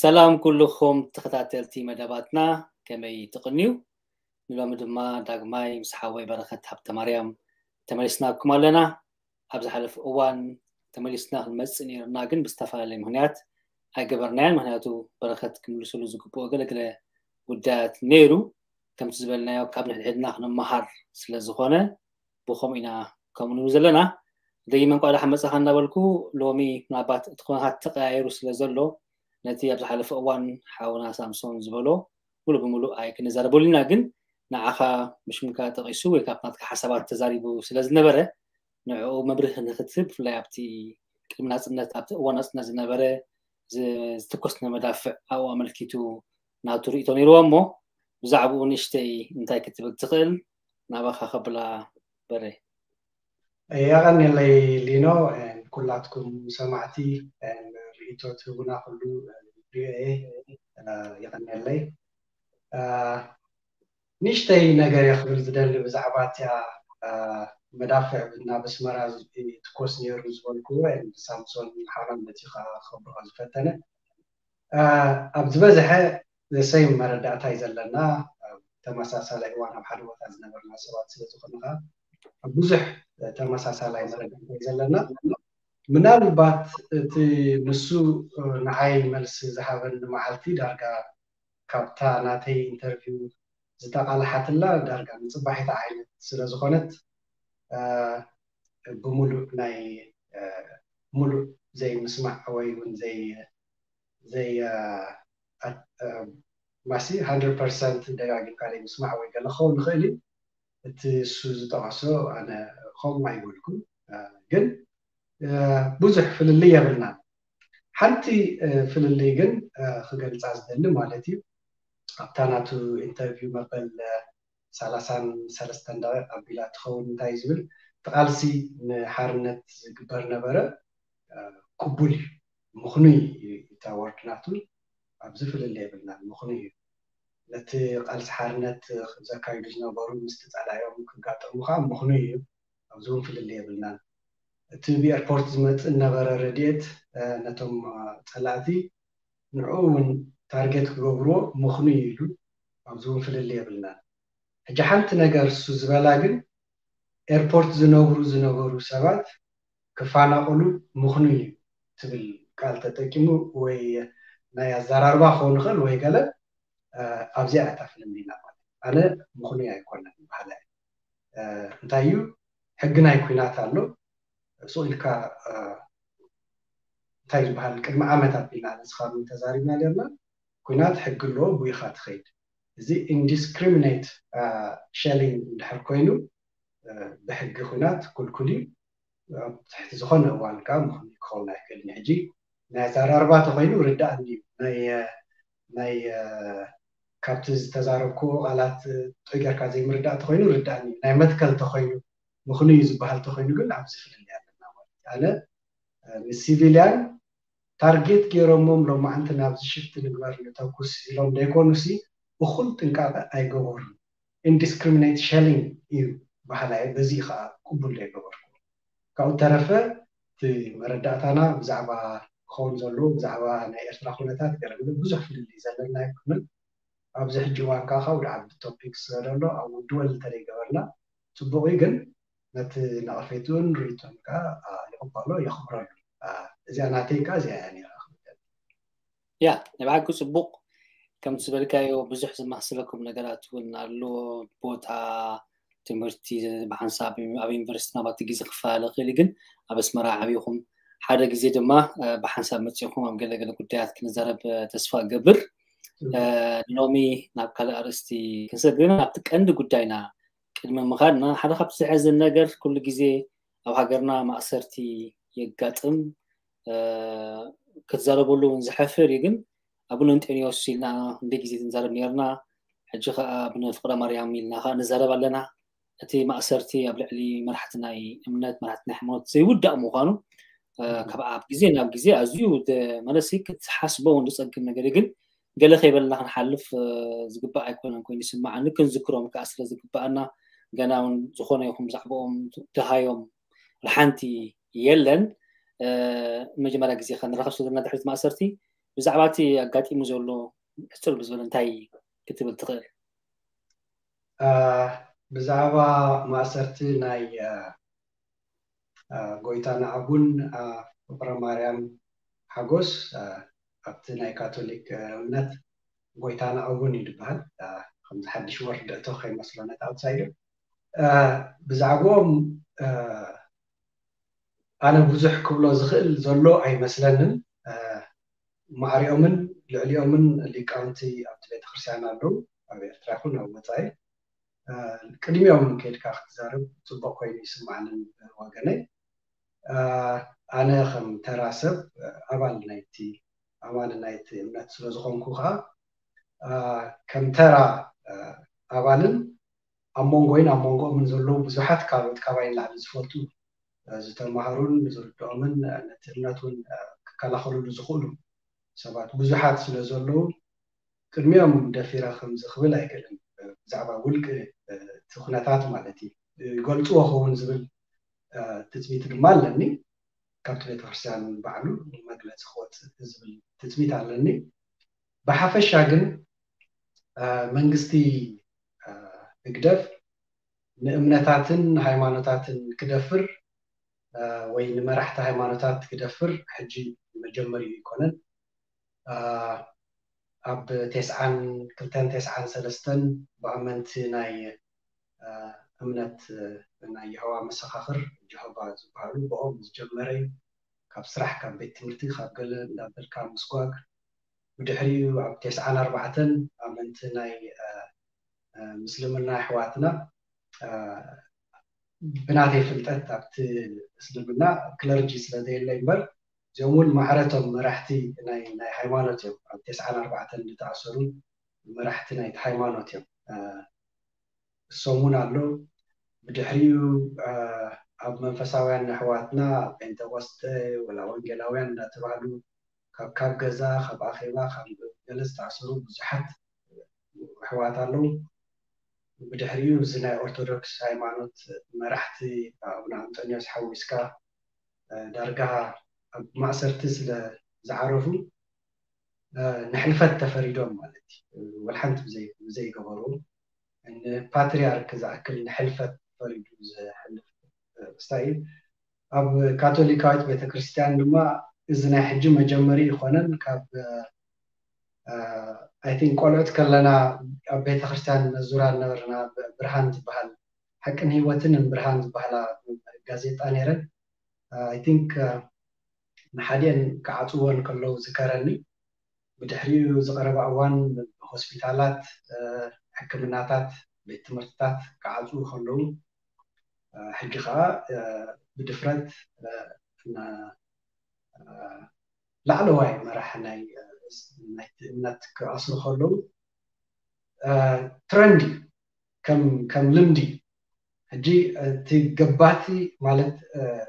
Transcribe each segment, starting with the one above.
ሰላም ኩልኹም ተኸታተልቲ መደባትና፣ ከመይ ትቕንዩ? ንሎሚ ድማ ዳግማይ ምስ ሓወይ በረኸት ሃብተማርያም ተመሊስናኩም ኣለና። ኣብ ዝሓለፈ እዋን ተመሊስና ክንመጽእ ነይርና፣ ግን ብዝተፈላለየ ምኽንያት ኣይገበርናዮን። ምኽንያቱ በረኸት ክምልስሉ ዝግብኦ ገለገለ ጉዳያት ነይሩ። ከምቲ ዝበልናዮ፣ ካብ ንሕድሕድና ክንመሃር ስለ ዝኾነ፣ ብኸምኡ ኢና ከምኡ ንብል ዘለና። ደጊመ እንኳዕ ደሓን መጻኻ እናበልኩ፣ ሎሚ ምናልባት እቲ ኩነታት ተቐያይሩ ስለ ዘሎ፣ ነቲ ኣብ ዝሓለፈ እዋን ሓውና ሳምሶን ዝበሎ ሙሉእ ብምሉእ ኣይክንዛረበሉ ኢና። ግን ንዓኻ ብሽምካ ጠቒሱ ወይ ካብ ናትካ ሓሳባት ተዛሪቡ ስለ ዝነበረ፣ ንዕኡ መብርሂ ንኽትህብ፣ ብፍላይ ኣብቲ ቅድሚ ናጽነት፣ ኣብቲ እዋን ናጽነት ዝነበረ ዝ-፣ ዝተኮስነ መዳፍዕ ኣብኡ ኣመልኪቱ ናቱ ርእይቶ ነይርዎ እሞ፣ ብዛዕባኡ ንእሽተይ እንታይ ክትብል ትኽእል? ናባኻ ከብላ በረ። የቐንየለይ ሊኖ፣ ኩላትኩም ሰማዕቲ ርእይቶ ትህቡና ኩሉ ሪኦ እየ። የቐንየለይ። ንእሽተይ ነገር እየ ክብል ዝደሊ ብዛዕባ እቲኣ መዳፍዕ ናብ ኣስመራ ትኮስ ነይሩ ዝበልኩዎ፣ ሳምሶን ሓራም ነቲ ከብርሆ ዝፈተነ። ኣብ ዝበዝሐ ዘሰይም መረዳእታ እዩ ዘለና። ኣብ ተመሳሳላይ እዋን ኣብ ሓደ ቦታ ዝነበርና ሰባት ስለ ዝኾንኻ፣ ኣብ ብዙሕ ተመሳሳላይ መረዳእታ እዩ ዘለና። ምናልባት እቲ ንሱ ንዓይ መልሲ ዝሃበኒ መዓልቲ ዳርጋ ካብታ ናተይ ኢንተርቪው ዝተቓልሓትላ ዳርጋ ንጽባሒታ ዓይነት ስለ ዝኾነት፣ ብሙሉእ ናይ ሙሉእ ዘይምስማዕ ወይ እውን ዘይ ዘይ ማሲ ሃንድረድ ፐርሰንት ደጋጊምካ ዘይምስማዕ ወይ ገለ ክኸውን ይኽእል እዩ። እቲ እሱ ዝጠቐሶ ኣነ ከምኡ ኣይበልኩን፣ ግን ብዙሕ ፍልልይ የብልናን። ሓንቲ ፍልልይ ግን ክገልጻ ዝደሊ ማለት እዩ፣ ኣብታ ናቱ ኢንተርቪው መበል ሰላሳን ሰለስተን ደቂቕ ኣቢላ ትኸውን። እንታይ ዝብል፣ እቲ ቃልሲ ንሓርነት ዝግበር ነበረ፣ ቅቡል እዩ፣ ምኽኑይ እዩ። እታ ወርድ ናቱ ኣብዚ ፍልልይ የብልናን፣ ምኽኑይ እዩ። ነቲ ቃልሲ ሓርነት ዘካይዱ ዝነበሩ ምስቲ ጸላኢኦም ክጋጠሙ ከዓ ምኽኑይ እዩ። ኣብዚ እውን ፍልልይ የብልናን። እቲ ብኤርፖርት ዝመጽእ ነበረ ረድኤት ነቶም ጸላእቲ ንዕኡ እውን ታርጌት ክገብርዎ ምኽኑይ እዩ ኢሉ፣ ኣብዚ እውን ፍልልይ የብልናን። ሕጂ ሓንቲ ነገር እሱ ዝበላ ግን ኤርፖርት ዝነብሩ ዝነበሩ ሰባት ክፋናቐሉ ምኽኑይ እዩ ትብል ቃል ተጠቂሙ ወይ ናይ ኣዘራርባ ክኸውን ይኽእል ወይ ገለ ኣብዚኣ እያ እታ ፍልልይና ማለት ኣነ ምኽኑይ ኣይኮነን በሃላይ እንታይ እዩ ሕጊ ናይ ኩናት ኣሎ ሱቕ ኢልካ እንታይ ዝበሃል ቅድሚ ዓመት ኣቢልና ንስኻ ተዛሪብና ነርና ኩናት ሕጊ ኣለዎ ብኢኻ ትኸይድ እዚ indiscriminate shelling እንድሕር ኮይኑ ብሕጊ ኩናት ክልኩል እዩ ኣብ ትሕቲ ዝኾነ እዋን ከዓ ምኽኑ ክኸውን ኣይክእልን ሕጂ ናይ ኣዘራርባ ተኮይኑ ርዳእኒ እዩ ናይ ናይ ካብቲ ዝተዛረብኩ ቃላት ጥገርካ ዘይምርዳእ ተኮይኑ ርዳእኒ እዩ ናይ መትከል ተኮይኑ ምኽኑ እዩ ዝበሃል ተኮይኑ ግን ኣብዚ ፍልልይ ኣለና ማለት ኣነ ንሲቪልያን ታርጌት ገይሮሞም ሎማዓንቲ ናብዚ ሽፍቲ ንግበር ንተኩስ ኢሎም ዘይኮኑሲ እኹል ጥንቃቐ ኣይገበሩን indiscriminate shelling እዩ በሃላይ በዚ ከዓ ቅቡል ዘይገበርኩ ካብኡ ተረፈ እቲ መረዳእታና ብዛዕባ ክኸውን ዘለዎ ብዛዕባ ናይ ኤርትራ ኩነታት ገለ ብዙሕ ፍልልይ ዘለና ኣይኮነን ኣብዚ ሕጂ እዋን ከዓ ካብ ዓቢ ቶፒክ ስለ ዘሎ ኣብ ድወል እንተደይገበርና ፅቡቅ እዩ ግን ነቲ ነቐፌትኡን ርእይቶን ከዓ ይቕበሎ የኽብረሉ እዚኣ ናተይ ከዓ እዚኣ እያ ነራ ያ ናይ ብሓቂ ፅቡቅ ከምቲ ዝበልካዮ ብዙሕ ዝማስለኩም ነገራት እውን ኣሎ ቦታ ትምህርቲ ብሓንሳብ ኣብ ዩኒቨርሲቲ ናባቲ ግዜ ክፈላለ ክእል ግን ኣብ ኣስመራ ዓብኹም ሓደ ግዜ ድማ ብሓንሳብ መፅኹም ኣብ ገለገለ ጉዳያት ክንዛረብ ተስፋ ገብር ሎሚ ናብ ካልእ ኣርእስቲ ክንሰግር ኣብቲ ቀንዲ ጉዳይና ቅድሚ ምኻድና ሓደ ካብቲ ዘሐዝን ነገር ኩሉ ግዜ ኣብ ሃገርና ማእሰርቲ የጋጥም ክትዛረበሉ እውን ዝሐፍር እዩ ግን ኣቡነ እንጤንዮስ ኢልና እንደ ግዜ ክንዛረብ ነርና ሕጂ ከዓ ኣቡነ ፍቅረ ማርያም ኢልና ከዓ ንዛረብ ኣለና እቲ ማእሰርቲ ኣብ ልዕሊ መራሕቲ ናይ እምነት መራሕቲ ናይ ሃይማኖት ዘይውዳእ ምዃኑ ካብ ኣብ ግዜ ናብ ግዜ ኣዝዩ መለሲ ክትሓስቦ እውን ዝፀግም ነገር ግን ገለ ከይበልና ክንሓልፍ ዝግባእ ኣይኮነን ኮይኑ ይስማዓኒ ክንዝክሮም ከዓ ስለ ዝግባኣና ገና እውን ዝኾነ ይኹን ብዛዕባኦም ድሃዮም ሓንቲ የለን መጀመርያ ግዜ ከንራኸብ ስለዘለና ድሕሪት ማእሰርቲ ብዛዕባ እቲ ኣጋጢሙ ዘሎ ሕጽር ብዝበለ እንታይ ክትብል ትኽእል? ብዛዕባ ማእሰርቲ ናይ ጎይታና ኣቡን ፍቕረ ማርያም ሓጎስ ኣብቲ ናይ ካቶሊክ እምነት ጎይታና ኣቡን እዩ ዝበሃል። ከምዚ ሓድሽ ወርድ እቶ ከይመስሎ ነቲ ኣውትሳይደር ብዛዕባኦም ኣነ ብዙሕ ክብሎ ዝኽእል ዘሎ ኣይመስለንን። ማዕሪኦምን ልዕሊኦምን ሊቃውንቲ ኣብቲ ቤተክርስትያን ኣለዉ፣ ኣብ ኤርትራ ይኹን ኣብ ወፃኢ። ቅድሚኦም ከይድካ ክትዛረብ ፅቡቅ ኮይኑ ይስማዕንን ወገነይ። ኣነ ከም ተራ ሰብ ኣባል ናይቲ ኣማኒ ናይቲ እምነት ስለዝኾንኩ ከዓ ከም ተራ ኣባልን ኣብ መንጎይን ኣብ መንጎኦምን ዘለዉ ብዙሓት ካልኦት ካባይ ንላዕሊ ዝፈልጡ ዝተማሃሩን ዝርድኦምን ነቲ እምነት እውን ክከላኸልሉ ዝኽእሉ ሰባት ብዙሓት ስለ ዘለዉ ቅድሚኦም ደፊረ ከምዚ ክብል ኣይክእልን። ብዛዕባ ውልቂ እቲ ኩነታት ማለት እዩ ይገልፅዎ ኸውን ዝብል ትፅቢት ድማ ኣለኒ። ካብቲ ቤተክርስትያን ባዕሉ መግለፂ ክወፅእ ዝብል ትፅቢት ኣለኒ። ብሓፈሻ ግን መንግስቲ ህግደፍ ንእምነታትን ሃይማኖታትን ክደፍር ወይ ንመራሕቲ ሃይማኖታት ክደፍር ሕጂ መጀመሪኡ ኣይኮነን። ኣብ ቴስዓን ክልተን ቴስዓን ሰለስተን ብኣመንቲ ናይ እምነት ናይ የሆዋ መሰኻኽር ጀሆባ ዝበሃሉ ብኦም ዝጀመረ ካብ ስራሕ ካብ ቤት ትምህርቲ ካብ ገለ እንዳበልካ ምስጓግ ብድሕሪኡ ኣብ ቴስዓን ኣርባዕተን ኣመንቲ ናይ ምስልምና ኣሕዋትና ብናተይ ፍልጠት ኣብቲ እስልምና ክለርጂ ስለዘየለ እምበር እዚኦም እውን ማዕረቶም መራሕቲ ናይ ናይ ሃይማኖት እዮም። ኣብ ቴስዓን ኣርባዕተን ዝተኣሰሩ መራሕቲ ናይቲ ሃይማኖት እዮም። እሶም እውን ኣሎ። ብድሕሪኡ ኣብ መንፈሳውያን ኣሕዋትና ጴንጠቆስጠ ወላ ወንጌላውያን እንዳተባህሉ ካብ ካብ ገዛ ካብ ኣኼባ ካብ ገለ ዝተኣሰሩ ብዙሓት ኣሕዋት ኣለዉ። ብድሕሪኡ እዚ ናይ ኦርቶዶክስ ሃይማኖት መራሕቲ ኣቡነ ኣንጦንዮስ ሓዊስካ ዳርጋ ኣብ ማእሰርቲ ስለ ዝዓረፉ ንሕልፈት ተፈሪዶም ማለት እዩ። ወልሓንቲ ብዘይገበሩ ንፓትሪያርክ ዝኣክል ንሕልፈት ፈሪዱ ዝሕልፍ ክስታይ እዩ። ኣብ ካቶሊካዊት ቤተክርስትያን ድማ እዚ ናይ ሕጂ መጀመሪ ይኮነን። ካብ ኣይ ቲንክ ቆልዑት ከለና ኣብ ቤተክርስትያን ነዙራ ነበርና። ብርሃን ዝበሃል ሓቅን ህይወትን ብርሃን ዝበሃላ ጋዜጣ ነይረን። ኣይ ቲንክ ንሓዲአን ክዓፅወን ከለዉ ዝከረኒ ብድሕሪኡ ዝቀረባ እዋን ሆስፒታላት፣ ሕክምናታት፣ ቤት ትምህርትታት ክዓፅዉ ከለዉ ሕጂ ከዓ ብድፍረት ላዕለዋይ መራሕ ናይ እምነት ክኣስሩ ከለዉ ትረንድ ከም ልምዲ ሕጂ እቲ ገባቲ ማለት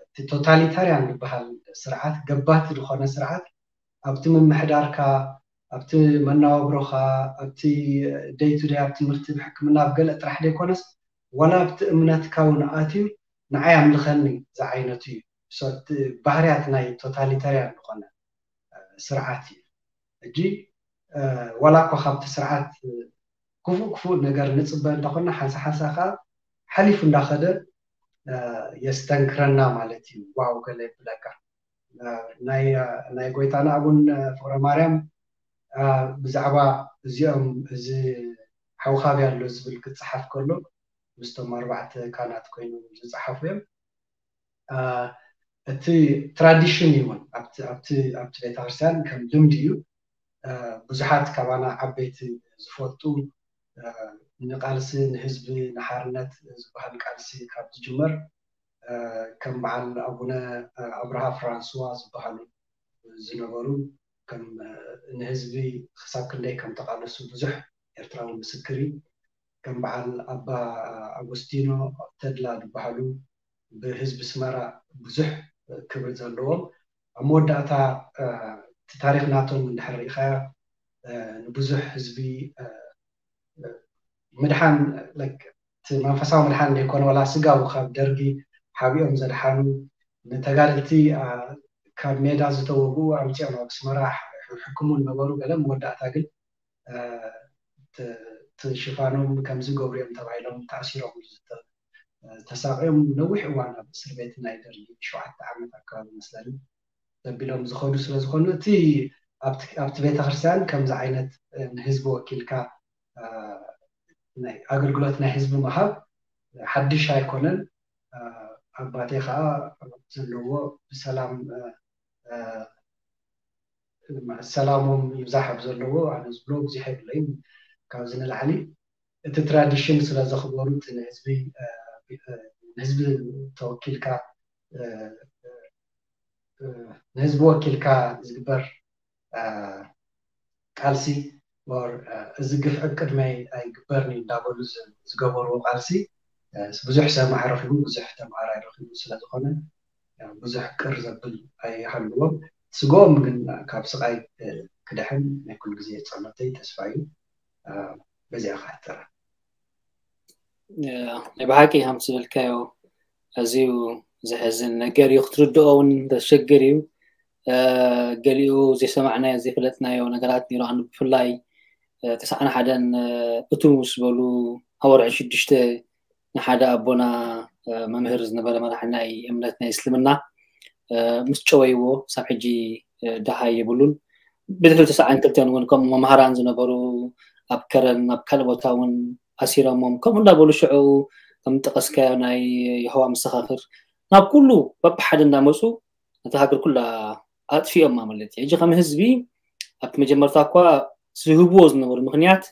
እቲ ቶታሊታርያን ዝበሃል ስርዓት ገባቲ ዝኾነ ስርዓት ኣብቲ ምምሕዳርካ ኣብቲ መናባብሮኻ ኣብቲ ደይ ቱ ደይ ኣብ ትምህርቲ ብሕክምና ኣብ ገለ ጥራሕ ዘይኮነስ ዋላ ኣብቲ እምነትካ እውን ኣትዩ ንዓይ ኣምልኸኒ ዝዓይነቱ እዩ። ባህርያት ናይ ቶታሊታርያን ዝኾነ ስርዓት እዩ። ሕጂ ዋላ እኳ ካብቲ ስርዓት ክፉእ ክፉእ ነገር ንፅበ እንዳኾና ሓንሳ ሓንሳ ከዓ ሓሊፉ እንዳኸደ የስተንክረና ማለት እዩ። ዋው ገለ ይብለካ። ናይ ጎይታና ኣቡን ፍቕረ ማርያም ብዛዕባ እዚኦም እዚ ሓውኻቢ ኣሎ ዝብል ክፀሓፍ ከሎ ምስቶም ኣርባዕተ ካህናት ኮይኖም ዝፀሓፉ እዮም። እቲ ትራዲሽን እዩ እውን ኣብቲ ቤተክርስትያን ከም ልምዲ እዩ። ብዙሓት ካባና ዓበይቲ ዝፈልጡ ንቃልሲ ንህዝቢ ንሓርነት ዝበሃል ቃልሲ ካብ ዝጅመር ከም በዓል ኣቡነ ኣብርሃ ፍራንስዋ ዝበሃሉ ዝነበሩ ከም ንህዝቢ ክሳብ ክንደይ ከም ተቃለሱ ብዙሕ ኤርትራዊ ምስክር እዩ። ከም በዓል ኣባ ኣጎስቲኖ ተድላ ዝበሃሉ ብህዝቢ ስመራ ብዙሕ ክብሪ ዘለዎም ኣብ መወዳእታ እቲ ታሪክ ናቶም እንድሕር ርኢኻያ ንብዙሕ ህዝቢ ምድሓን እቲ መንፈሳዊ ምድሓን ዘይኮነ ዋላ ስጋዊ ካብ ደርጊ ሓቢኦም ዘድሓኑ ንተጋደልቲ ካብ ሜዳ ዝተወግኡ ኣምፂኦም ኣብ ኣስመራ ሕክሙ ነበሩ። ገለ መወዳእታ ግን ትሽፋኖም ከምዚ ገብሩ እዮም ተባሂሎም ተኣሲሮም ዝተሳቀዮም ነዊሕ እዋን ኣብ እስር ቤት ናይ ደርጊ ሸውዓተ ዓመት ኣካባቢ መስለኒ ዘቢሎም ዝኸዱ ስለዝኾኑ እቲ ኣብቲ ቤተክርስትያን ከምዚ ዓይነት ንህዝቢ ወኪልካ ናይ ኣገልግሎት ናይ ህዝቢ ምሃብ ሓድሽ ኣይኮነን። ኣባቴ ከዓ ዘለዎ ብሰላም ሰላሞም ይብዛሕ ኣብ ዘለዎ ኣነ ዝብሎ ብዙሕ የብለይን። ካብዚ ንላዕሊ እቲ ትራዲሽን ስለ ዘኽበሩ እቲ ንህዝቢ ንህዝቢ ተወኪልካ ንህዝቢ ወኪልካ ዝግበር ቃልሲ or እዚ ግፍዒ ቅድመይ ኣይግበርን እዩ እንዳበሉ ዝገበርዎ ቃልሲ ብዙሕ ሰማዒ ረኪቡ ብዙሕ ተምሃራይ ረኪቡ ስለዝኮነ ብዙሕ ቅር ዘብል ኣይሃልዎም። ስግኦም ግን ካብ ስቃይ ክድሕን ናይ ኩሉ ግዜ ጸሎተይ ተስፋ እዩ። በዚኣ ክሕተራ ናይ ብሓቂ ከም ዝበልካዮ ኣዝዩ ዘሕዝን ነገር እዩ። ክትርድኦ እውን ዘሸግር እዩ። ገሊኡ ዘይሰማዕናዮ ዘይፈለጥናዮ ነገራት ነይሩ። ኣነ ብፍላይ ተስዓን ሓደን እቱ ምስ በሉ ኣብ ወርሒ ሽዱሽተ ንሓደ ኣቦና መምህር ዝነበረ መራሒ ናይ እምነት ናይ እስልምና ምስ ጨወይዎ ሳብ ሕጂ ደሃይ የብሉን። ብድሕሪ ተስዓን ክልተን እውን ከምኡ መምሃራን ዝነበሩ ኣብ ከረን ኣብ ካልእ ቦታ እውን ኣሲሮሞም ከምኡ እንዳበሉ ሽዑ ከም ጠቀስካዮ ናይ የሆዋ መሰኻኽር ናብ ኩሉ በብሓደ እንዳመፁ ነቲ ሃገር ኩላ ኣጥፊኦማ ማለት እዩ። ሕጂ ከም ህዝቢ ኣብቲ መጀመርታ እኳ ዝህብዎ ዝነበሩ ምክንያት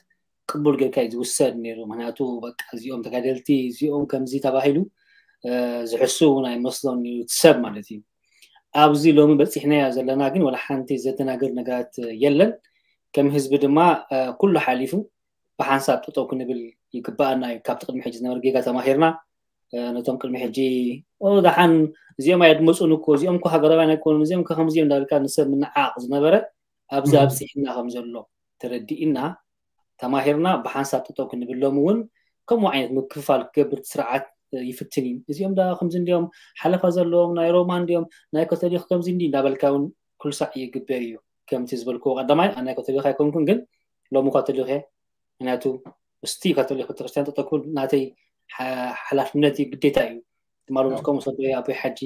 ቅቡል ጌርካ እዩ ዝውሰድ ነይሩ። ምክንያቱ በቃ እዚኦም ተጋደልቲ እዚኦም ከምዚ ተባሂሉ ዝሕሱ እውን ኣይመስሎን እዩ ሰብ ማለት እዩ። ኣብዚ ሎሚ በፂሕናዮ ዘለና ግን ወላ ሓንቲ ዘደናግር ነገራት የለን። ከም ህዝቢ ድማ ኩሉ ሓሊፉ ብሓንሳብ ጠጠው ክንብል ይግባኣና እዩ። ካብቲ ቅድሚ ሕጂ ዝነበረ ጌጋ ተማሂርና ነቶም ቅድሚ ሕጂ ደሓን እዚኦም ኣየድመፁን እኮ እዚኦም እኮ ሃገራውያን ኣይኮኑን እዚኦም ከምዚ እዮም እንዳበልካ ንሰብ ምንዓቕ ዝነበረ ኣብዚ ኣብፂሕና ከም ዘሎ ተረዲእና ተማሂርና ብሓንሳብ ጠጠው ክንብሎም እውን ከምኡ ዓይነት ምክፍፋል ክገብር ስርዓት ይፍትን እዩ። እዚኦም ዳ ከምዚ እንዲኦም ሓለፋ ዘለዎም ናይ ሮማ እንዲኦም ናይ ካቶሊክ ከምዚ እንዲ እንዳበልካ እውን ኩልሳዕ ይግበር እዩ። ከምቲ ዝበልክዎ ቀዳማይ ኣነ ካቶሊክ ኣይኮንኩን ግን ሎሚ ካቶሊክ እየ። ምክንያቱ ምስቲ ካቶሊክ ቤተክርስትያን ጠጠው ክብል ናተይ ሓላፍነት እዩ ግዴታ እዩ። ትማሊ ምስ ከምኡ ሰበ ኣቦይ ሓጂ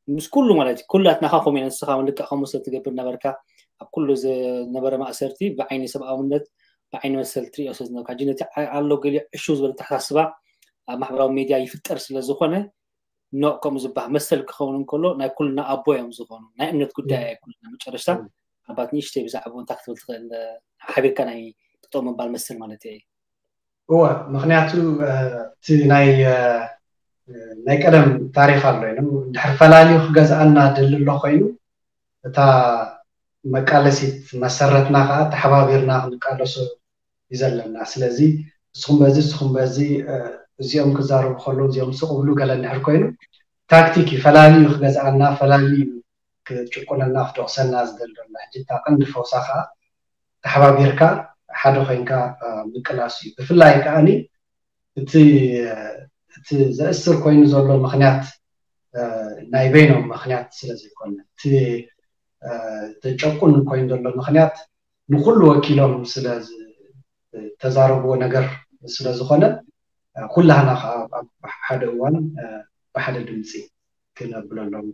ምስ ኩሉ ማለት እዩ ኩላትና ካ ከምኡ ንስኻ ልክዕ ከምኡ ስለ ትገብር ነበርካ ኣብ ኩሉ ዝነበረ ማእሰርቲ ብዓይኒ ሰብኣውነት ብዓይኒ መሰል ትሪኦ ስለ ዝነበርካ ሕጂ ነቲ ኣሎ ገሊኡ ዕሹ ዝበለ ተሓሳስባ ኣብ ማሕበራዊ ሜድያ ይፍጠር ስለ ዝኾነ ኖ ከምኡ ዝበሃል መሰል ክኸውን እንከሎ ናይ ኩልና ኣቦ እዮም ዝኾኑ ናይ እምነት ጉዳይ ኣይ ኩልና መጨረሽታ ኣባት ንእሽተይ ብዛዕባ እንታይ ክትብል ትኽእል ሓቢርካ ናይ ጥጦ ምባል መሰል ማለት እዩ። እወ ምክንያቱ እቲ ናይ ናይ ቀደም ታሪክ ኣሎ ኢሎም እንድሕር ፈላልዩ ክገዝኣና ደሊ ኣሎ ኮይኑ እታ መቃለሲት መሰረትና ከዓ ተሓባቢርና ክንቃለሶ እዩ ዘለና። ስለዚ ንስኹም በዚ ንስኹም በዚ እዚኦም ክዛረቡ ከለዉ እዚኦም ስቕ ብሉ ገለ እንድሕር ኮይኑ ታክቲክ እዩ ፈላልዩ ክገዝኣና ፈላልዩ ክጭቁነና ክደቕሰና ዝደሊ ዘሎ ሕጂ እታ ቀንዲ ፈውሳ ከዓ ተሓባቢርካ ሓደ ኮይንካ ምቅላስ እዩ። ብፍላይ ከዓኒ እቲ እቲ ዘእስር ኮይኑ ዘሎ ምክንያት ናይ በይኖም ምክንያት ስለ ዘይኮነ እቲ ዘጨቁን ኮይኑ ዘሎ ምክንያት ንኩሉ ወኪሎም ስለ ዝተዛረብዎ ነገር ስለ ዝኾነ ኩላህና ከዓ ኣብ ሓደ እዋን ብሓደ ድምፂ ክነብለሎም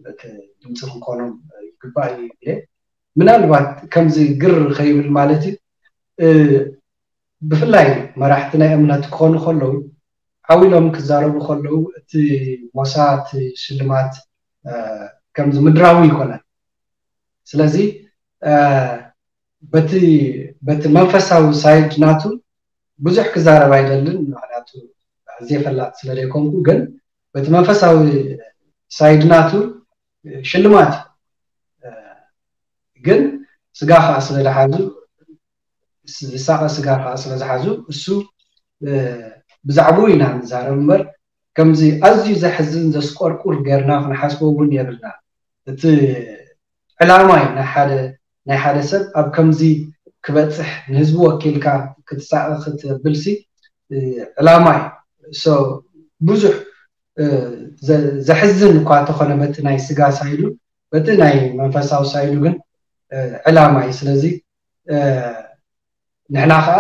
ድምፂ ክንኮኖም ይግባእ እዩ። ምናልባት ከምዚ ግር ከይብል ማለት እዩ ብፍላይ መራሕቲ ናይ እምነት ክኾኑ ከለዉ ዓው ኢሎም ክዛረቡ ከለዉ እቲ ሞሳ እቲ ሽልማት ከምዚ ምድራዊ ይኮነን። ስለዚ በቲ በቲ መንፈሳዊ ሳይድ ናቱ ብዙሕ ክዛረብ ኣይደልን፣ ምክንያቱ ኣዝየ ፈላጥ ስለ ዘይኮንኩ፣ ግን በቲ መንፈሳዊ ሳይድ ናቱ ሽልማት እዩ። ግን ስጋ ከዓ ስለ ዝሓዙ ዝሳቐ ስጋ ከዓ ስለ ዝሓዙ እሱ ብዛዕባኡ ኢና ንዛረብ እምበር ከምዚ ኣዝዩ ዘሕዝን ዘስቆርቁር ጌርና ክንሓስቦ እውን የብልና። እቲ ዕላማ እዩ ናይ ሓደ ናይ ሓደ ሰብ ኣብ ከምዚ ክበፅሕ ንህዝቢ ወኪልካ ክትሳቐ ክትብልሲ ዕላማ እዩ። ብዙሕ ዘሕዝን እኳ ተኾነ በቲ ናይ ስጋ ሳይዱ በቲ ናይ መንፈሳዊ ሳይዱ ግን ዕላማ እዩ። ስለዚ ንሕና ከዓ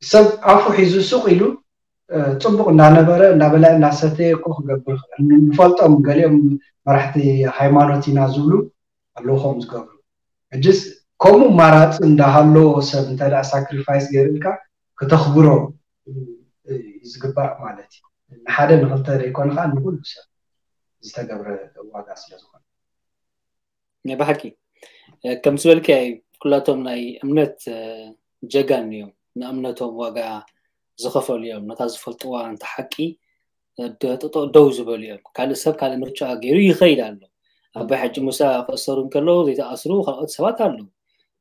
ሰብ ኣፉ ሒዙ ሱቕ ኢሉ ጽቡቕ እናነበረ እናበላ እናሰተየ እኮ ክገብር ይኽእል። ንፈልጦም ገሊኦም መራሕቲ ሃይማኖት ኢና ዝብሉ ኣለዉ ከምኡ ዝገብሩ። ሕጅስ ከምኡ ማራፂ እንዳሃለዎ ሰብ እንተ ሳክሪፋይስ ገይርልካ ክተኽብሮ ዝግባእ ማለት እዩ። ንሓደ ንክልተ ዘይኮነ ከዓ ንኩሉ ሰብ ዝተገብረ ዋጋ ስለዝኾነ። ናይ ብሓቂ ከም ዝበልካዮ ኩላቶም ናይ እምነት ጀጋን እዮም። ንእምነቶም ዋጋ ዝኸፈሉ እዮም። ነታ ዝፈልጥዋ እንተ ሓቂ ደው ዝበሉ እዮም። ካልእ ሰብ ካልእ ምርጫ ገይሩ ይኸይድ ኣሎ። ኣባይ ሓጂ ሙሳ ክእሰሩ እንከለዉ ዘይተኣስሩ ካልኦት ሰባት ኣለዉ።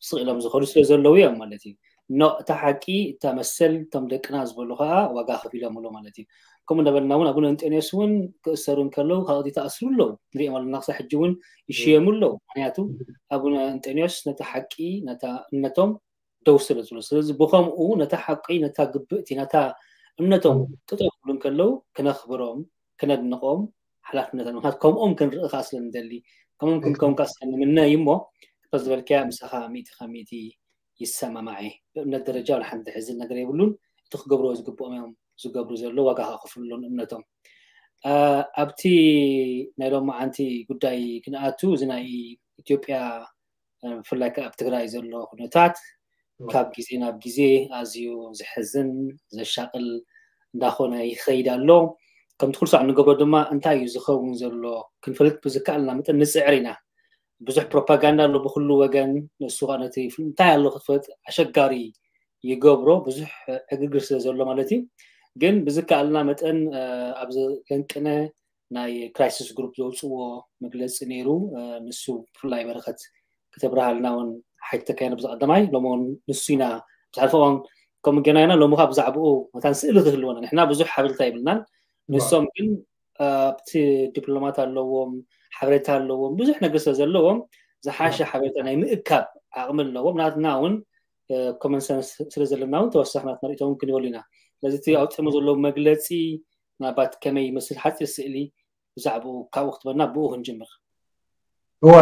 ስቕ ኢሎም ዝኸዱ ስለ ዘለዉ እዮም ማለት እዩ። ኖ እታ ሓቂ እታ መሰል እቶም ደቅና ዝበሉ ከዓ ዋጋ ከፊሎምሉ ማለት እዩ። ከምኡ እንዳበልና እውን ኣቡነ እንጠንዮስ እውን ክእሰሩ እንከለዉ ካልኦት ይተኣስሩ ኣለዉ። ንሪኦም ኣለና ክሳብ ሕጂ እውን ይሽየሙ ኣለዉ። ምክንያቱ ኣቡነ እንጠንዮስ ነታ ሓቂ ነታ እምነቶም ደው ስለ ዝብሉ ስለዚ ብከምኡ ነታ ሓቂ ነታ ግብእቲ ነታ እምነቶም ጥጠው ክብሉ እንከለዉ ክነኽብሮም ክነድንቆም ሓላፍነት ኣሎ። ምክንያቱ ከምኦም ክንርኢ ከዓ ስለ ንደሊ ከምኦም ክንከውን ከዓ ስለ ንምነ እዩ እሞ ዝበልካያ ምሳኻ ሚእቲ ካብ ሚእቲ ይሰማማዕ እየ። ብእምነት ደረጃ ወላ ሓንቲ ሕዝን ነገር የብሉን። እቲ ክገብርዎ ዝግብኦም እዮም ዝገብሩ ዘለዉ ዋጋ ከኽፍሉን እምነቶም ኣብቲ ናይ ሎማዓንቲ ጉዳይ ክንኣቱ እዚ ናይ ኢትዮጵያ ብፍላይ ከዓ ኣብ ትግራይ ዘሎ ኩነታት ካብ ግዜ ናብ ግዜ ኣዝዩ ዘሕዝን ዘሻቅል እንዳኾነ ይኸይድ ኣሎ። ከምቲ ኩሉ ሳዕ እንገብሮ ድማ እንታይ እዩ ዝኸውን ዘሎ ክንፈልጥ ብዝከኣልና መጠን ንፅዕር ኢና። ብዙሕ ፕሮፓጋንዳ ኣሎ ብኩሉ ወገን። ንሱ ከዓ ነቲ እንታይ ኣሎ ክትፈልጥ ኣሸጋሪ ይገብሮ። ብዙሕ ዕግርግር ስለ ዘሎ ማለት እዩ። ግን ብዝከኣልና መጠን ኣብ ዘንቅነ ናይ ክራይሲስ ግሩፕ ዘውፅዎ መግለፂ ነይሩ። ንሱ ብፍላይ በረኸት ክተብርሃልና እውን ሓይተካዮ ብዚ ቀዳማይ ሎሚ እውን ንሱ ኢና ብዝሓለፈ እዋን ከምኡ ጌና ኢና። ሎሚ ከዓ ብዛዕባኡ መታን ስእሊ ክህልወና ንሕና ብዙሕ ሓበሬታ ይብልናን ንሶም ግን ኣብቲ ዲፕሎማት ኣለዎም ሓበሬታ ኣለዎም ብዙሕ ነገር ስለ ዘለዎም ዝሓሸ ሓበሬታ ናይ ምእካብ ዓቕሚ ኣለዎም። ናትና እውን ኮመን ሰንስ ስለ ዘለና እውን ተወሳኺ ናትና ርእይቶ እውን ክንበሉ ኢና። ስለዚ እቲ ኣውፅሞ ዘለዉ መግለፂ ምናልባት ከመይ ይመስል ሓፂር ስእሊ ብዛዕባኡ ካብኡ ክትበና ብኡ ክንጅምር። እወ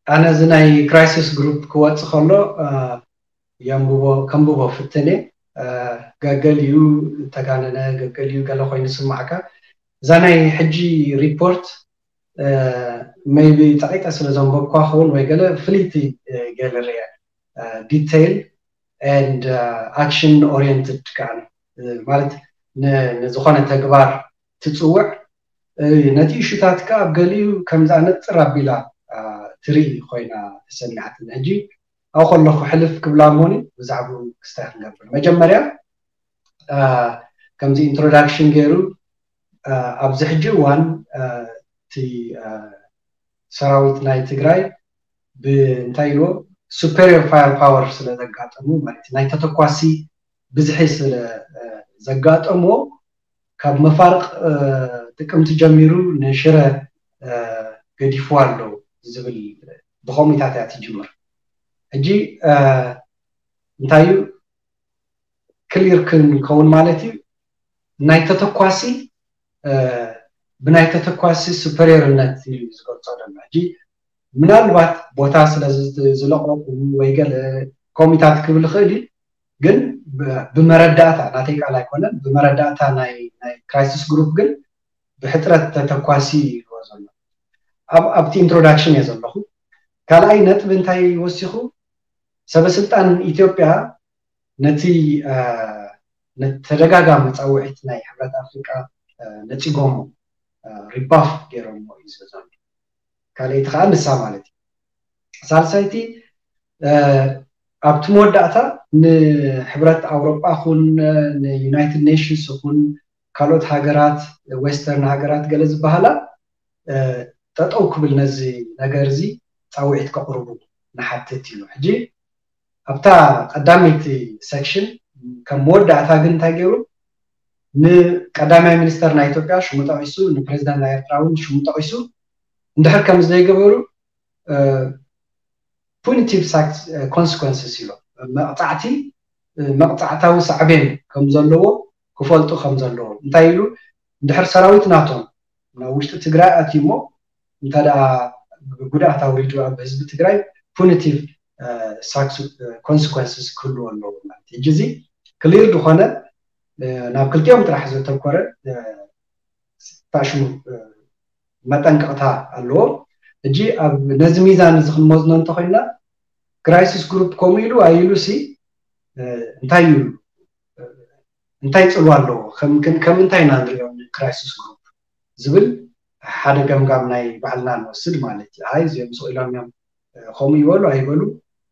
ኣነ እዚ ናይ ክራይሲስ ግሩፕ ክወፅ ከሎ የንብቦ ከንብቦ ፍትነ ገገሊኡ ተጋነነ ገገሊኡ ገለ ኮይኑ ስማዕካ እዛ ናይ ሕጂ ሪፖርት maybe ጸቂጠ ስለ ዘንበብኳ ክኸውን ወይ ገለ ፍልይቲ ገለ ርየ detail and action oriented ከዓ ማለት ንዝኾነ ተግባር ትጽውዕ ነቲ እሹታት ከዓ ኣብ ገሊኡ ከምዚ ኣነጽር ኣቢላ ትርኢ ኮይና ተሰሚዓትን ሕጂ ኣብ ከለኹ ሕልፍ ክብላ እሞኒ ብዛዕባኡ ክስታይ ክንገብር መጀመርያ ከምዚ introduction ገይሩ ኣብዚ ሕጂ እዋን እቲ ሰራዊት ናይ ትግራይ ብእንታይ ኢልዎ superior fire power ስለ ዘጋጠሙ ማለት ናይ ተተኳሲ ብዝሒ ስለ ዘጋጠሞ ካብ መፋርቕ ጥቅምቲ ጀሚሩ ንሽረ ገዲፍዋ ኣሎ ዝብል ብኸምኡታት እያ ትጅምር። ሕጂ እንታይ እዩ ክሊር ክንከውን ማለት እዩ ናይ ተተኳሲ ብናይ ተተኳሲ ሱፐሪየርነት እዩ ዝገልፆ ዘሎ። ሕጂ ምናልባት ቦታ ስለ ዝለቀቁ ወይ ገለ ኮሚታት ክብል ይኽእል እዩ፣ ግን ብመረዳእታ ናተይ ቃል ኣይኮነን፣ ብመረዳእታ ናይ ክራይሲስ ግሩፕ ግን ብሕፅረት ተተኳሲ ይዎ ዘሎ። ኣብቲ ኢንትሮዳክሽን እየ ዘለኹ። ካልኣይ ነጥቢ እንታይ ወሲኹ? ሰበስልጣን ኢትዮጵያ ነቲ ተደጋጋሚ ፃውዒት ናይ ሕብረት ኣፍሪቃ ነፂጎሞ ሪባፍ ገይሮሞ እዩ ዘሎ። ካልኣይቲ ከዓ ንሳ ማለት እዩ። ሳልሳይቲ ኣብቲ መወዳእታ ንሕብረት ኣውሮጳ ኹን ንዩናይትድ ኔሽንስ ኹን ካልኦት ሃገራት ዌስተርን ሃገራት ገለ ዝበሃላ ጠጠው ክብል ነዚ ነገር እዚ ፃውዒት ከቕርቡ ንሓትት ኢሉ። ሕጂ ኣብታ ቀዳመይቲ ሴክሽን ከም መወዳእታ ግን እንታይ ገይሩ ንቀዳማይ ሚኒስተር ናይ ኢትዮጵያ ሽሙ ጠቂሱ ንፕሬዚዳንት ናይ ኤርትራ እውን ሽሙ ጠቂሱ እንድሕር ከም ዘይገበሩ ፑኒቲቭ ኮንስኮንስስ ኢሎ መቕፃዕቲ መቕፃዕታዊ ሳዕቤን ከም ዘለዎ ክፈልጡ ከም ዘለዎ እንታይ ኢሉ እንድሕር ሰራዊት ናቶም ናብ ውሽጢ ትግራይ ኣትዩሞ እንተ ጉድኣት ኣውሪዱ ኣብ ህዝቢ ትግራይ punitive consequences ክህልዎ ኣለዎ ማለት እዩ። ሕጂ እዚ ክሊር ዝኾነ ናብ ክልቲኦም ጥራሕ ዘተኮረ ታሽሙ መጠንቀቕታ ኣለዎ። ሕጂ ኣብ ነዚ ሚዛን እዚ ክንመዝኖ እንተኮይና crisis group ከምኡ ኢሉ ኣይሉ ሲ እንታይ እዩ እንታይ ፅልዋ ኣለዎ ከም እንታይ ኢና ንሪኦም crisis group ዝብል ሓደ ገምጋም ናይ ባዕልና ንወስድ ማለት እዩ። ኣይ እዚኦም ስቕ ኢሎም እዮም ከምኡ ይበሉ ኣይበሉ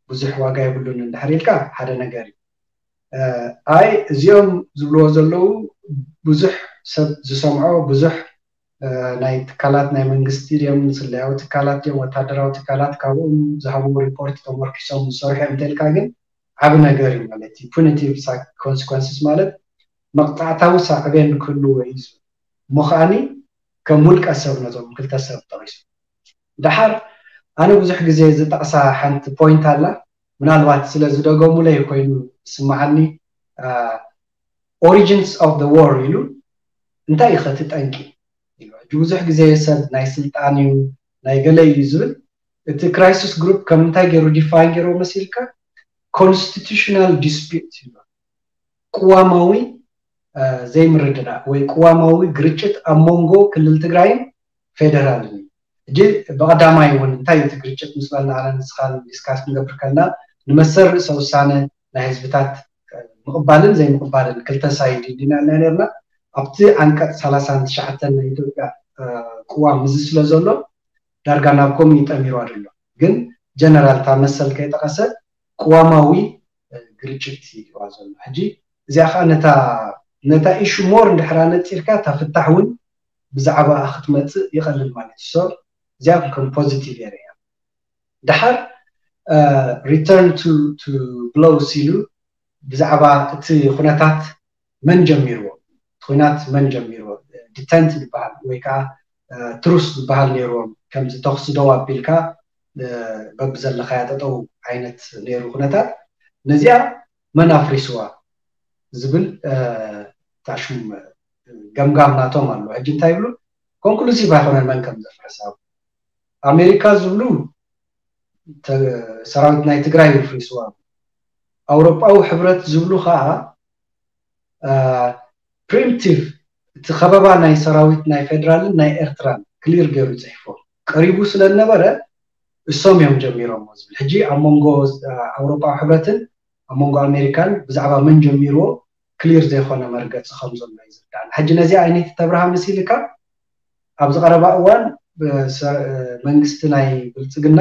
ብዙሕ ዋጋ የብሉን እንድሕር ኢልካ ሓደ ነገር እዩ። ኣይ እዚኦም ዝብልዎ ዘለዉ ብዙሕ ሰብ ዝሰምዖ ብዙሕ ናይ ትካላት ናይ መንግስቲ ድዮም ስለያዊ ትካላት ድዮም ወታደራዊ ትካላት ካብኦም ዝሃብዎ ሪፖርት ተመርኪሶም ዝሰርሑ እዮም እንተልካ ግን ዓብ ነገር እዩ ማለት እዩ። Punitive consequences ማለት መቕፃዕታዊ ሳዕቤን ክህልዎ እዩ። እሞ ከዓኒ ከም ውልቀ ሰብ ነዞም ክልተ ሰብ ጠቒሱ ድሓር ኣነ ብዙሕ ግዜ ዝጠቕሳ ሓንቲ point ኣላ ምናልባት ስለ ዝደገሙለይ ኮይኑ ዝስምዓኒ origins of the war ኢሉ እንታይ እዩ ከቲ ጠንቂ ሕጂ ብዙሕ ግዜ ሰብ ናይ ስልጣን እዩ ናይ ገለ እዩ ዝብል እቲ crisis group ከም እንታይ ገይሩ define ገይርዎ መሲልካ constitutional dispute ይብሎ ቅዋማዊ ዘይምርድዳእ ወይ ቅዋማዊ ግርጭት ኣብ መንጎ ክልል ትግራይን ፌደራልን እዩ። ሕጂ ብቐዳማይ እውን እንታይ እቲ ግርጭት ምስ በልና ኣነ ንስኻን ዲስካስ ክንገብር ከለና ንመሰል ርእሰ ውሳነ ናይ ህዝብታት ምቕባልን ዘይምቕባልን ክልተ ሳይድ ዲና ና ነርና ኣብቲ ዓንቀፅ ሰላሳን ትሽዓተን ናይ ኢትዮጵያ ቅዋም እዚ ስለ ዘሎ ዳርጋ ናብ ኮም ይጠሚሩ ኣሎ ግን ጀነራል ታ መሰል ከይጠቐሰ ቅዋማዊ ግርጭት ይዋ ዘሎ ሕጂ እዚኣ ከዓ ነታ ነታ ኢሹ ሞር እንድሕራ ነፂርካ እታ ፍታሕ እውን ብዛዕባ ክትመፅእ ይቐልል ማለት እዩ እዚኣ ከም ፖዚቲቭ የር እያ ድሓር return to blows ኢሉ ብዛዕባ እቲ ኩነታት መን ጀሚርዎ እቲ ኩናት መን ጀሚርዎ detent ዝበሃል ወይ ከዓ ትሩስ ዝበሃል ነይርዎም ከምዚ ተኽሲ ደው ኣቢልካ በብዘለካያ ጠጠው ዓይነት ነይሩ ኩነታት ነዚኣ መን ኣፍሪስዋ ዝብል ታሽሙ ገምጋም ናቶም ኣሎ ሕጂ እንታይ ይብሉ ኮንክሉሲቭ ኣይኮነን መን ከም ዘፍረሳ ኣሜሪካ ዝብሉ ሰራዊት ናይ ትግራይ ይፍሪስዋ ኣውሮጳዊ ሕብረት ዝብሉ ከዓ preemptive እቲ ከበባ ናይ ሰራዊት ናይ ፌደራልን ናይ ኤርትራን ክሊር ገይሩ ይፅሕፎ ቀሪቡ ስለ ዝነበረ እሶም እዮም ጀሚሮሞ ዝብል ሕጂ ኣብ መንጎ ኣውሮጳዊ ሕብረትን ኣብ መንጎ ኣሜሪካን ብዛዕባ መን ጀሚርዎ ክሊር ዘይኮነ መርገፂ ከም ዘሎ እዩ ዝርዳእና ሕጂ ነዚ ዓይነት ተብርሃ መሲልካ ኣብዚ ቀረባ እዋን መንግስቲ ናይ ብልፅግና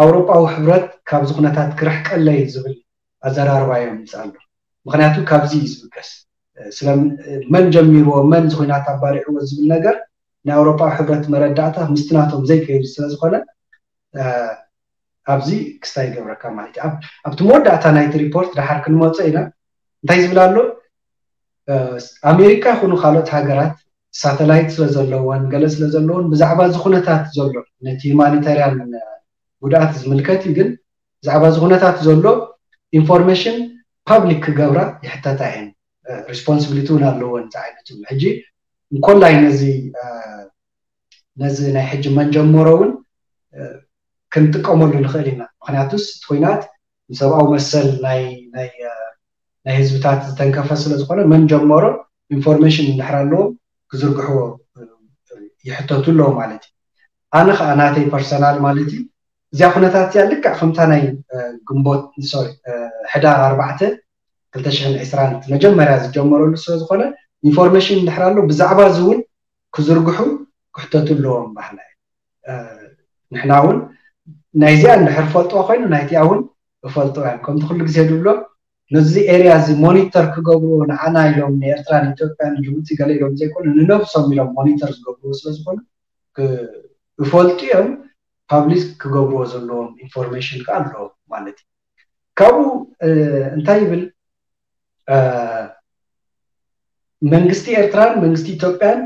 ኣውሮጳዊ ሕብረት ካብዚ ኩነታት ክርሕቀለይ ዝብል ኣዘራርባ እዮም ይምፅእ ኣሎ ምክንያቱ ካብዚ እዩ ዝብገስ ስለመን ጀሚርዎ መን ዝኩናት ኣባሪዕዎ ዝብል ነገር ናይ ኣውሮጳዊ ሕብረት መረዳእታ ምስቲ ናቶም ዘይከይዱ ስለዝኮነ ኣብዚ ክስታይ ይገብረካ ማለት እዩ ኣብቲ መወዳእታ ናይቲ ሪፖርት ድሓር ክንመፆ ኢና እንታይ ዝብል ኣሎ ኣሜሪካ ይኹኑ ካልኦት ሃገራት ሳተላይት ስለዘለዎን ገለ ስለዘለዎን ብዛዕባ ዝኩነታት ዘሎ ነቲ ሁማኒታርያን ጉድኣት ዝምልከት እዩ ግን ብዛዕባ ዝኩነታት ዘሎ ኢንፎርሜሽን ፓብሊክ ክገብራ ይሕተታ እየን ሪስፖንስብሊቲ እውን ኣለዎን ዝዓይነቱ ሕጂ እንኮላይ ነዚ ነዚ ናይ ሕጂ መንጀመሮ እውን ክንጥቀመሉ ንኽእል ኢና ምክንያቱስ እቲ ኮይናት ንሰብኣዊ መሰል ናይ ናይ ህዝብታት ዝተንከፈ ስለ ዝኾነ መን ጀመሮ ኢንፎርሜሽን እንድሕር ኣለዎም ክዝርግሕዎ ይሕተቱ ኣለዎ ማለት እዩ ኣነ ከዓ ናተይ ፐርሰናል ማለት እዩ እዚኣ ኩነታት እዚኣ ልክዕ ከምታ ናይ ግንቦት ሶሪ ሕዳር ኣርባዕተ ክልተ ሽሕን ዕስራን መጀመርያ ዝጀመረሉ ስለ ዝኾነ ኢንፎርሜሽን እንድሕር ኣሎ ብዛዕባ እዚ እውን ክዝርግሑ ክሕተቱ ኣለዎም ባህላ እዩ ንሕና እውን ናይዚኣ እንድሕር ፈልጥዋ ኮይኑ ናይቲኣ እውን እፈልጥዋ እዮም ከምቲ ኩሉ ግዜ ዝብሎ ነዚ ኤርያ እዚ ሞኒተር ክገብርዎ ንዓና ኢሎም ንኤርትራን ኢትዮጵያን ጅቡቲ ገለ ኢሎም ዘይኮኑ ንነብሶም ኢሎም ሞኒተር ዝገብርዎ ስለዝኮኑ እፈልጡ እዮም ፓብሊክ ክገብርዎ ዘለዎም ኢንፎርሜሽን ከዓ ኣለዎም ማለት እዩ ካብኡ እንታይ ይብል መንግስቲ ኤርትራን መንግስቲ ኢትዮጵያን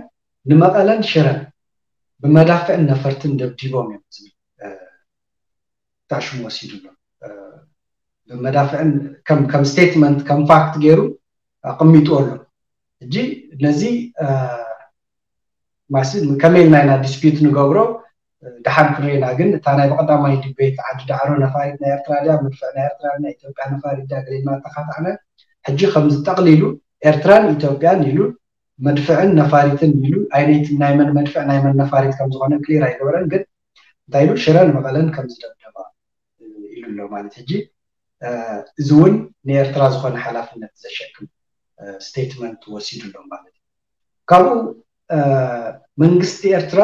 ንመቐለን ሽረን ብመዳፍዕን ነፈርትን ደብዲቦም እዮም ዝብል ታሽሙ ወሲዱ ኣሎ ብመዳፍዕን ከም ስቴትመንት ከም ፋክት ገይሩ ኣቐሚጡ ኣሎ እጂ ነዚ ማሲ ከመይ ኢልና ኢና ዲስፒት ንገብሮ ድሓን ክንሪና ግን እታ ናይ ብቐዳማይ ዲቤት ዓዲ ዳዕሮ ነፋሪት ናይ ኤርትራ ድያ፣ መድፍዕ ናይ ኤርትራ ናይ ኢትዮጵያ ነፋሪት ድያ ገለ ኢልና ተኻታዕና። ሕጂ ከምዚ ጠቕሊሉ ኤርትራን ኢትዮጵያን ኢሉ መድፍዕን ነፋሪትን ኢሉ ኣይነይት ናይ መን መድፍዕ ናይ መን ነፋሪት ከም ዝኾነ ክሊር ኣይገበረን። ግን እንታይ ኢሉ ሽረን መቐለን ከም ዝደብደባ ኢሉ ኣሎ ማለት ሕጂ እዚ እውን ንኤርትራ ዝኾነ ሓላፍነት ዘሸክም ስቴትመንት ወሲዱ ኣሎ ማለት እዩ። ካብኡ መንግስቲ ኤርትራ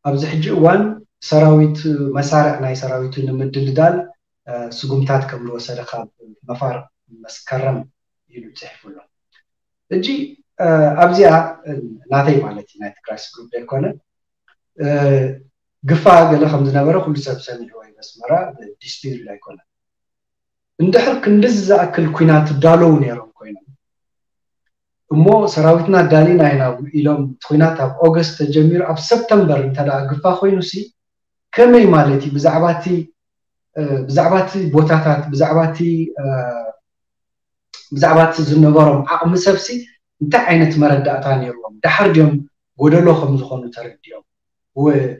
ኣብዚ ሕጂ እዋን ሰራዊት መሳርዕ ናይ ሰራዊቱ ንምድልዳል ስጉምታት ከም ዝወሰደ ካብ መፋር መስከረም ኢሉ ፅሒፉ ኣሎ። ሕጂ ኣብዚኣ ናተይ ማለት እዩ ናይ ትግራይ ግሩፕ ዘይኮነ ግፋ ገለ ከም ዝነበረ ኩሉ ሰብ ሰሚዕዎ እዩ። ኣስመራ ዲስፒሪት ኣይኮነን። እንድሕር ክንድዚ ዝኣክል ኩናት ትዳለዉ ነይሮም ኮይኖም እሞ ሰራዊትና ዳሊና ኢና ኢሎም እቲ ኩናት ኣብ ኦገስት ተጀሚሩ ኣብ ሰፕተምበር እንተ ግፋ ኮይኑ ሲ ከመይ ማለት እዩ ብዛዕባቲ ብዛዕባቲ ቦታታት ብዛዕባቲ ብዛዕባቲ ዝነበሮም ዓቕሚ ሰብሲ እንታይ ዓይነት መረዳእታ ነይርዎም? ደሓር ድዮም ጎደሎ ከም ዝኾኑ ተረዲኦም?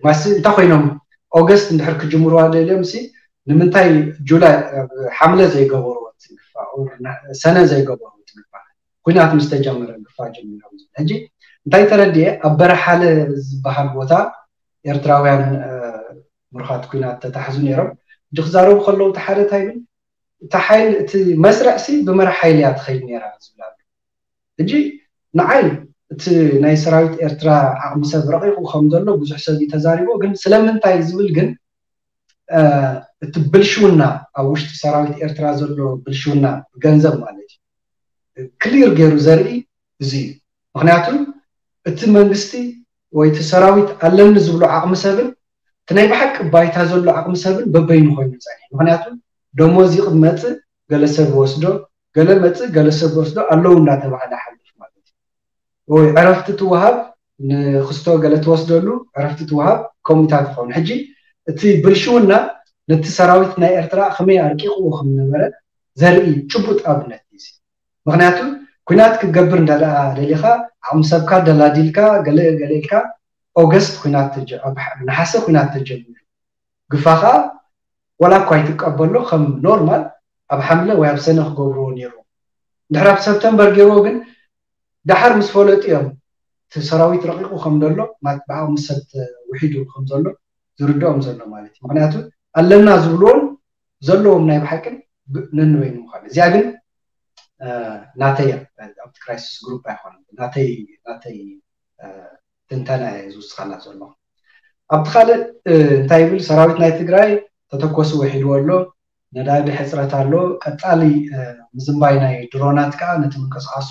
ማሲ እንታይ ኮይኖም ኦገስት እንድሕር ክጅምርዋ ደልዮም ሲ ንምንታይ ጁላይ ሓምለ ዘይገበርዎ ትግፋ ሰነ ዘይገበርዎ ትግፋ ኩናት ምስ ተጀመረ ግፋ ጀሚሮም ዝብል ሕጂ እንታይ ተረድየ ኣብ በረሓለ ዝበሃል ቦታ ኤርትራውያን ምሩኻት ኩናት ተታሕዙ ነይሮም። ሕጂ ክዛረቡ ከለዉ እቲ ሓደ እንታይ ይብል እቲ ሓይል እቲ መስርዕ ሲ ብመራሕ ሓይሊ እያ ትኸይድ ነይራ ዝብል ኣሎ። ሕጂ ንዓይ እቲ ናይ ሰራዊት ኤርትራ ዓቕሚ ሰብ ረቂቑ ከም ዘሎ ብዙሕ ሰብ እዩ ተዛሪቦ። ግን ስለምንታይ ዝብል ግን እቲ ብልሽውና ኣብ ውሽጢ ሰራዊት ኤርትራ ዘሎ ብልሽውና ብገንዘብ ማለት እዩ ክሊር ገይሩ ዘርኢ እዚ እዩ። ምክንያቱ እቲ መንግስቲ ወይ እቲ ሰራዊት ኣለኒ ዝብሎ ዓቕሚ ሰብን እቲ ናይ ብሓቂ ባይታ ዘሎ ዓቕሚ ሰብን በበይኑ ኮይኑ ፀኒሑ። ምክንያቱ ደሞዝ ይቕመፅእ ገለ ሰብ ወስዶ ገለ መፅእ ገለ ሰብ ወስዶ ኣለዉ እንዳተባሃለ ሓልፍ ማለት እዩ። ወይ ዕረፍቲ ትወሃብ ንክስቶ ገለ ትወስደሉ ዕረፍቲ ትወሃብ ከምኡታት ይኸውን። ሕጂ እቲ ብልሽውና ነቲ ሰራዊት ናይ ኤርትራ ከመይ ኣርቂቕዎ ከም ነበረ ዘርኢ ጭቡጥ ኣብነት እዩ። ምክንያቱ ኩናት ክትገብር እንዳ ደኣ ደሊኻ ዓቕሚ ሰብካ ደላዲልካ ገለ ገለ ኢልካ ኦገስት ኩናት ነሓሰ ኩናት ተጀሚሩ ግፋኻ ዋላ እኳ ይትቀበሎ ከም ኖርማል ኣብ ሓምለ ወይ ኣብ ሰነ ክገብርዎ ነይሩ ድሕር ኣብ ሰፕተምበር ገይርዎ ግን ደሓር ምስ ፈለጡ እዮም እቲ ሰራዊት ረቂቑ ከም ዘሎ ብዓቕሚ ሰብ ውሒዱ ከም ዘሎ ዝርድኦም ዘሎ ማለት እዩ። ምክንያቱ ኣለና ዝብልዎን ዘለዎም ናይ ብሓቅን ነንበይኑ ምዃኑ እዚኣ ግን ናተይ ኣብቲ ክራይሲስ ግሩፕ ኣይኮነ ናተይ ናተይ ትንተና እየ ዝውስኸላ ዘሎ። ኣብቲ ካልእ እንታይ ይብል ሰራዊት ናይ ትግራይ ተተኮሲ ውሒድዎ ኣሎ፣ ነዳዲ ሕፅረት ኣሎ፣ ቀፃሊ ምዝንባይ ናይ ድሮናት ከዓ ነቲ ምንቅስቃሱ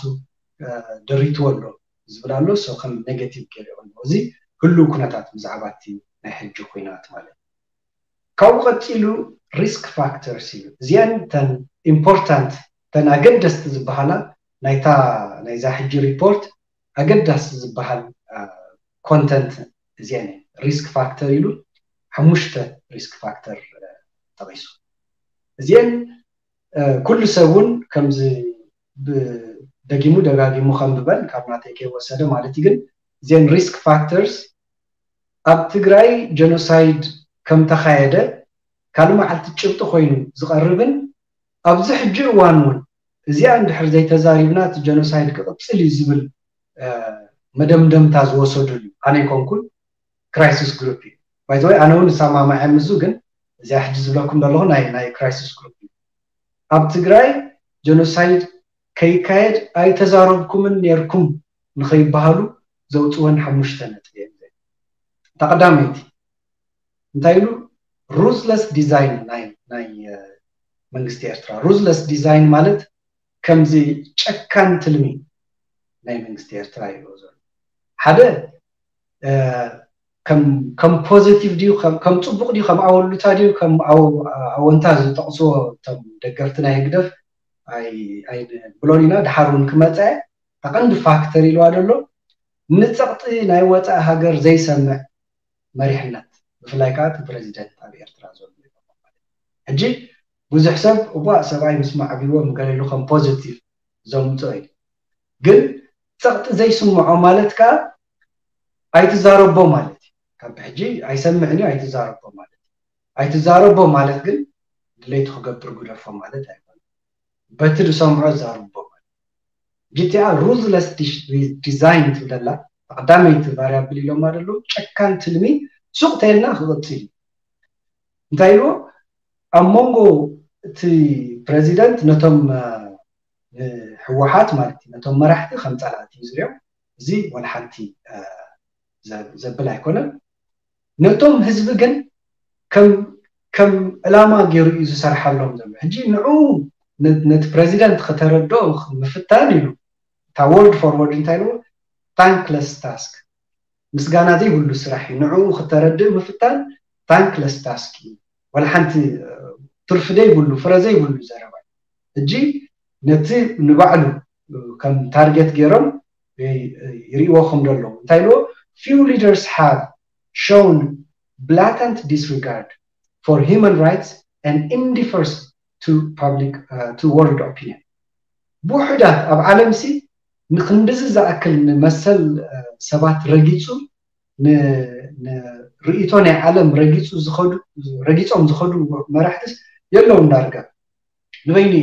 ደሪትዎ ኣሎ ዝብል ኣሎ። ሶ ከም ኔጌቲቭ ገይሩ ኣሎ። እዚ ህሉው ኩነታት ብዛዕባ እቲ ናይ ሕጂ ኩናት ማለት እዩ። ካብኡ ቀፂሉ ሪስክ ፋክተርስ እዩ። እዚአን ተን ኢምፖርታንት ተን ኣገደስቲ ዝበሃላ ናይታ ናይዛ ሕጂ ሪፖርት ኣገዳሲ ዝበሃል ኮንተንት እዚአን ሪስክ ፋክተር ኢሉ ሓሙሽተ ሪስክ ፋክተር ጠቂሱ። እዚአን ኩሉ ሰብ እውን ከምዚ ደጊሙ ደጋጊሙ ከንብበን ካብ ናተይ ከይወሰደ ማለት እዩ። ግን እዚአን ሪስክ ፋክተርስ ኣብ ትግራይ ጀኖሳይድ ከም ተኻየደ ካልእ መዓልቲ ጭብጢ ኮይኑ ዝቐርብን ኣብዚ ሕጂ እዋን እውን እዚኣ እንድሕር ዘይተዛሪብና እቲ ጀኖሳይድ ክቕፅል እዩ ዝብል መደምደምታ ዝወሰዱሉ ኣነ ኣይኮንኩን ክራይሲስ ግሩፕ እዩ። ባይዘወይ ኣነ እውን እሰማማዕ እየ ምስዚ ግን እዚኣ ሕጂ ዝብለኩም ዘለኹ ናይ ናይ ክራይሲስ ግሩፕ እዩ። ኣብ ትግራይ ጀኖሳይድ ከይካየድ ኣይተዛረብኩምን ነይርኩም ንኸይበሃሉ ዘውፅወን ሓሙሽተ ነጥቢ እዮም። እታ ቀዳመይቲ እንታይ ኢሉ ሩዝለስ ዲዛይን ናይ ናይ መንግስቲ ኤርትራ። ሩዝለስ ዲዛይን ማለት ከምዚ ጨካን ትልሚ ናይ መንግስቲ ኤርትራ ይብሎ ዘሎ ሓደ ከም ፖዚቲቭ ድዩ ከም ፅቡቅ ድዩ ከም ኣወሉታ ድዩ ከም ኣወንታ ዝጠቅስዎ እቶም ደገፍቲ ናይ ህግደፍ ኣይንብሎን ኢና። ድሓር እውን ክመፀ ቀንዲ ፋክተር ኢልዋ ዘሎ ንፀቕጢ ናይ ወፃኢ ሃገር ዘይሰምዕ መሪሕነት ብፍላይ ከዓ እቲ ፕረዚደንት ኣብ ኤርትራ ዘሎ ሕጂ ብዙሕ ሰብ እቧ ሰብኣይ ምስ ማዕቢዎ ምገለሉ ከም ፖዚቲቭ ዘምፅኦ እዩ። ግን ፀቕጢ ዘይስምዖ ማለት ከዓ ኣይትዛረቦ ማለት እዩ። ሕጂ ኣይሰምዕን እዩ ኣይትዛረቦ ማለት እዩ። ኣይትዛረቦ ማለት ግን ድሌቱ ክገብር ግደፎ ማለት ኣይኮነ። በቲ ዝሰምዖ ዛርቦ ማለት ጂቲኣ ሩዝለስ ዲዛይን ትብለላ ቀዳመይቲ ቫሪያብል ኢሎማ ዘለዉ ጨካን ትልሚ ሱቕ ተልና ክቕፅል እዩ። እንታይ ኢልዎ ኣብ መንጎ እቲ ፕረዚደንት ነቶም ህወሓት ማለት እዩ ነቶም መራሕቲ ከም ፀላእቲ እዩ ዝሪኦም። እዚ ወላ ሓንቲ ዘብል ኣይኮነን። ነቶም ህዝቢ ግን ከም ዕላማ ገይሩ እዩ ዝሰርሓሎም ዘሎ። ሕጂ ንዑ ነቲ ፕረዚደንት ከተረድኦ ምፍታን ኢሉ እታ ወርድ ፎርወርድ እንታይ ኢልዎ ታንክለስ ታስክ ምስጋና ዘይብሉ ስራሕ እዩ። ንዕኡ ክተረድእ ምፍታን ታንክለስ ታስክ እዩ። ወላ ሓንቲ ትርፊ ዘይብሉ ፍረ ዘይብሉ ዘረባ እዩ። ሕጂ ነቲ ንባዕሉ ከም ታርጌት ገይሮም ይርእዎ ከም ዘለዉ እንታይ ኢልዎ few leaders have shown blatant disregard for human rights and indifference to public to world opinion። ብውሕዳት ኣብ ዓለም ሲ ንክንድዚ ዝኣክል ንመሰል ሰባት ረጊፁ ንርእይቶ ናይ ዓለም ረጊፁ ዝኸዱ ረጊፆም ዝኸዱ መራሕትስ የለውን ዳርጋ ንበይኑ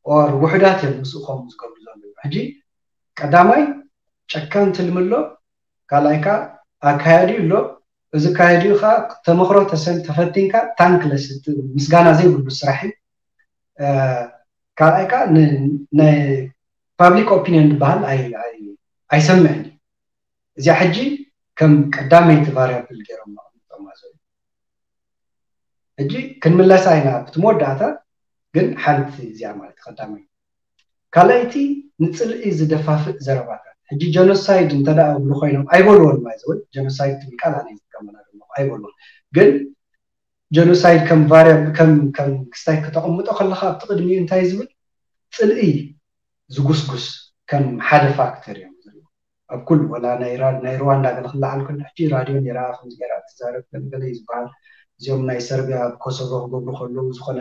ኦር ውሕዳት እዮም ምስኡ ከምኡ ዝገብሩ ዘለዉ። ሕጂ ቀዳማይ ጨካን ትልሚ ኣሎ፣ ካልኣይ ከዓ ኣካያዲ ኣሎ። እዚ ኣካያዲ ከዓ ተመክሮ ተፈቲንካ ታንክለስ ምስጋና ዘይብሉ ስራሕ እዩ። ካልኣይ ከዓ ናይ ፓብሊክ ኦፒኒየን ዝበሃል ኣይሰምዕን እዩ። እዚኣ ሕጂ ከም ቀዳመይቲ ቫሪያብል ገይሮም ኣቐሚጦማ ዘለዉ። ሕጂ ክንምለሳ ኢና ኣብቲ መወዳእታ ግን ሓንቲ እዚኣ ማለት ቀዳመይቲ ካልኣይቲ ንፅልኢ ዝደፋፍእ ዘረባታት ሕጂ ጀኖሳይድ እንተደኣ እብሉ ኮይኖም ኣይበልዎን ማይ ዘወይ ጀኖሳይድ ትብል ቃል ኣነ ዝጥቀመላ ዘለኹ ኣይበልዎን ግን ጀኖሳይድ ከም ቫሪያብል ከም ከም ክስታይ ከተቐምጦ ከለካ ኣብቲ ቅድሚኡ እንታይ ዝብል ፅልኢ ዝጉስጉስ ከም ሓደ ፋክተር እዮም ዝሪኦ ኣብ ኩሉ ወላ ናይ ራ- ናይ ሩዋንዳ ገለ ክለዓል ከሎ ሕጂ ራድዮ ነይራ ከምዚ ገይራ ትዛረብ ገለ ገለ እዩ ዝበሃል እዚኦም ናይ ሰርቢያ ኣብ ኮሶቮ ክገብሩ ከለዉ ዝኾነ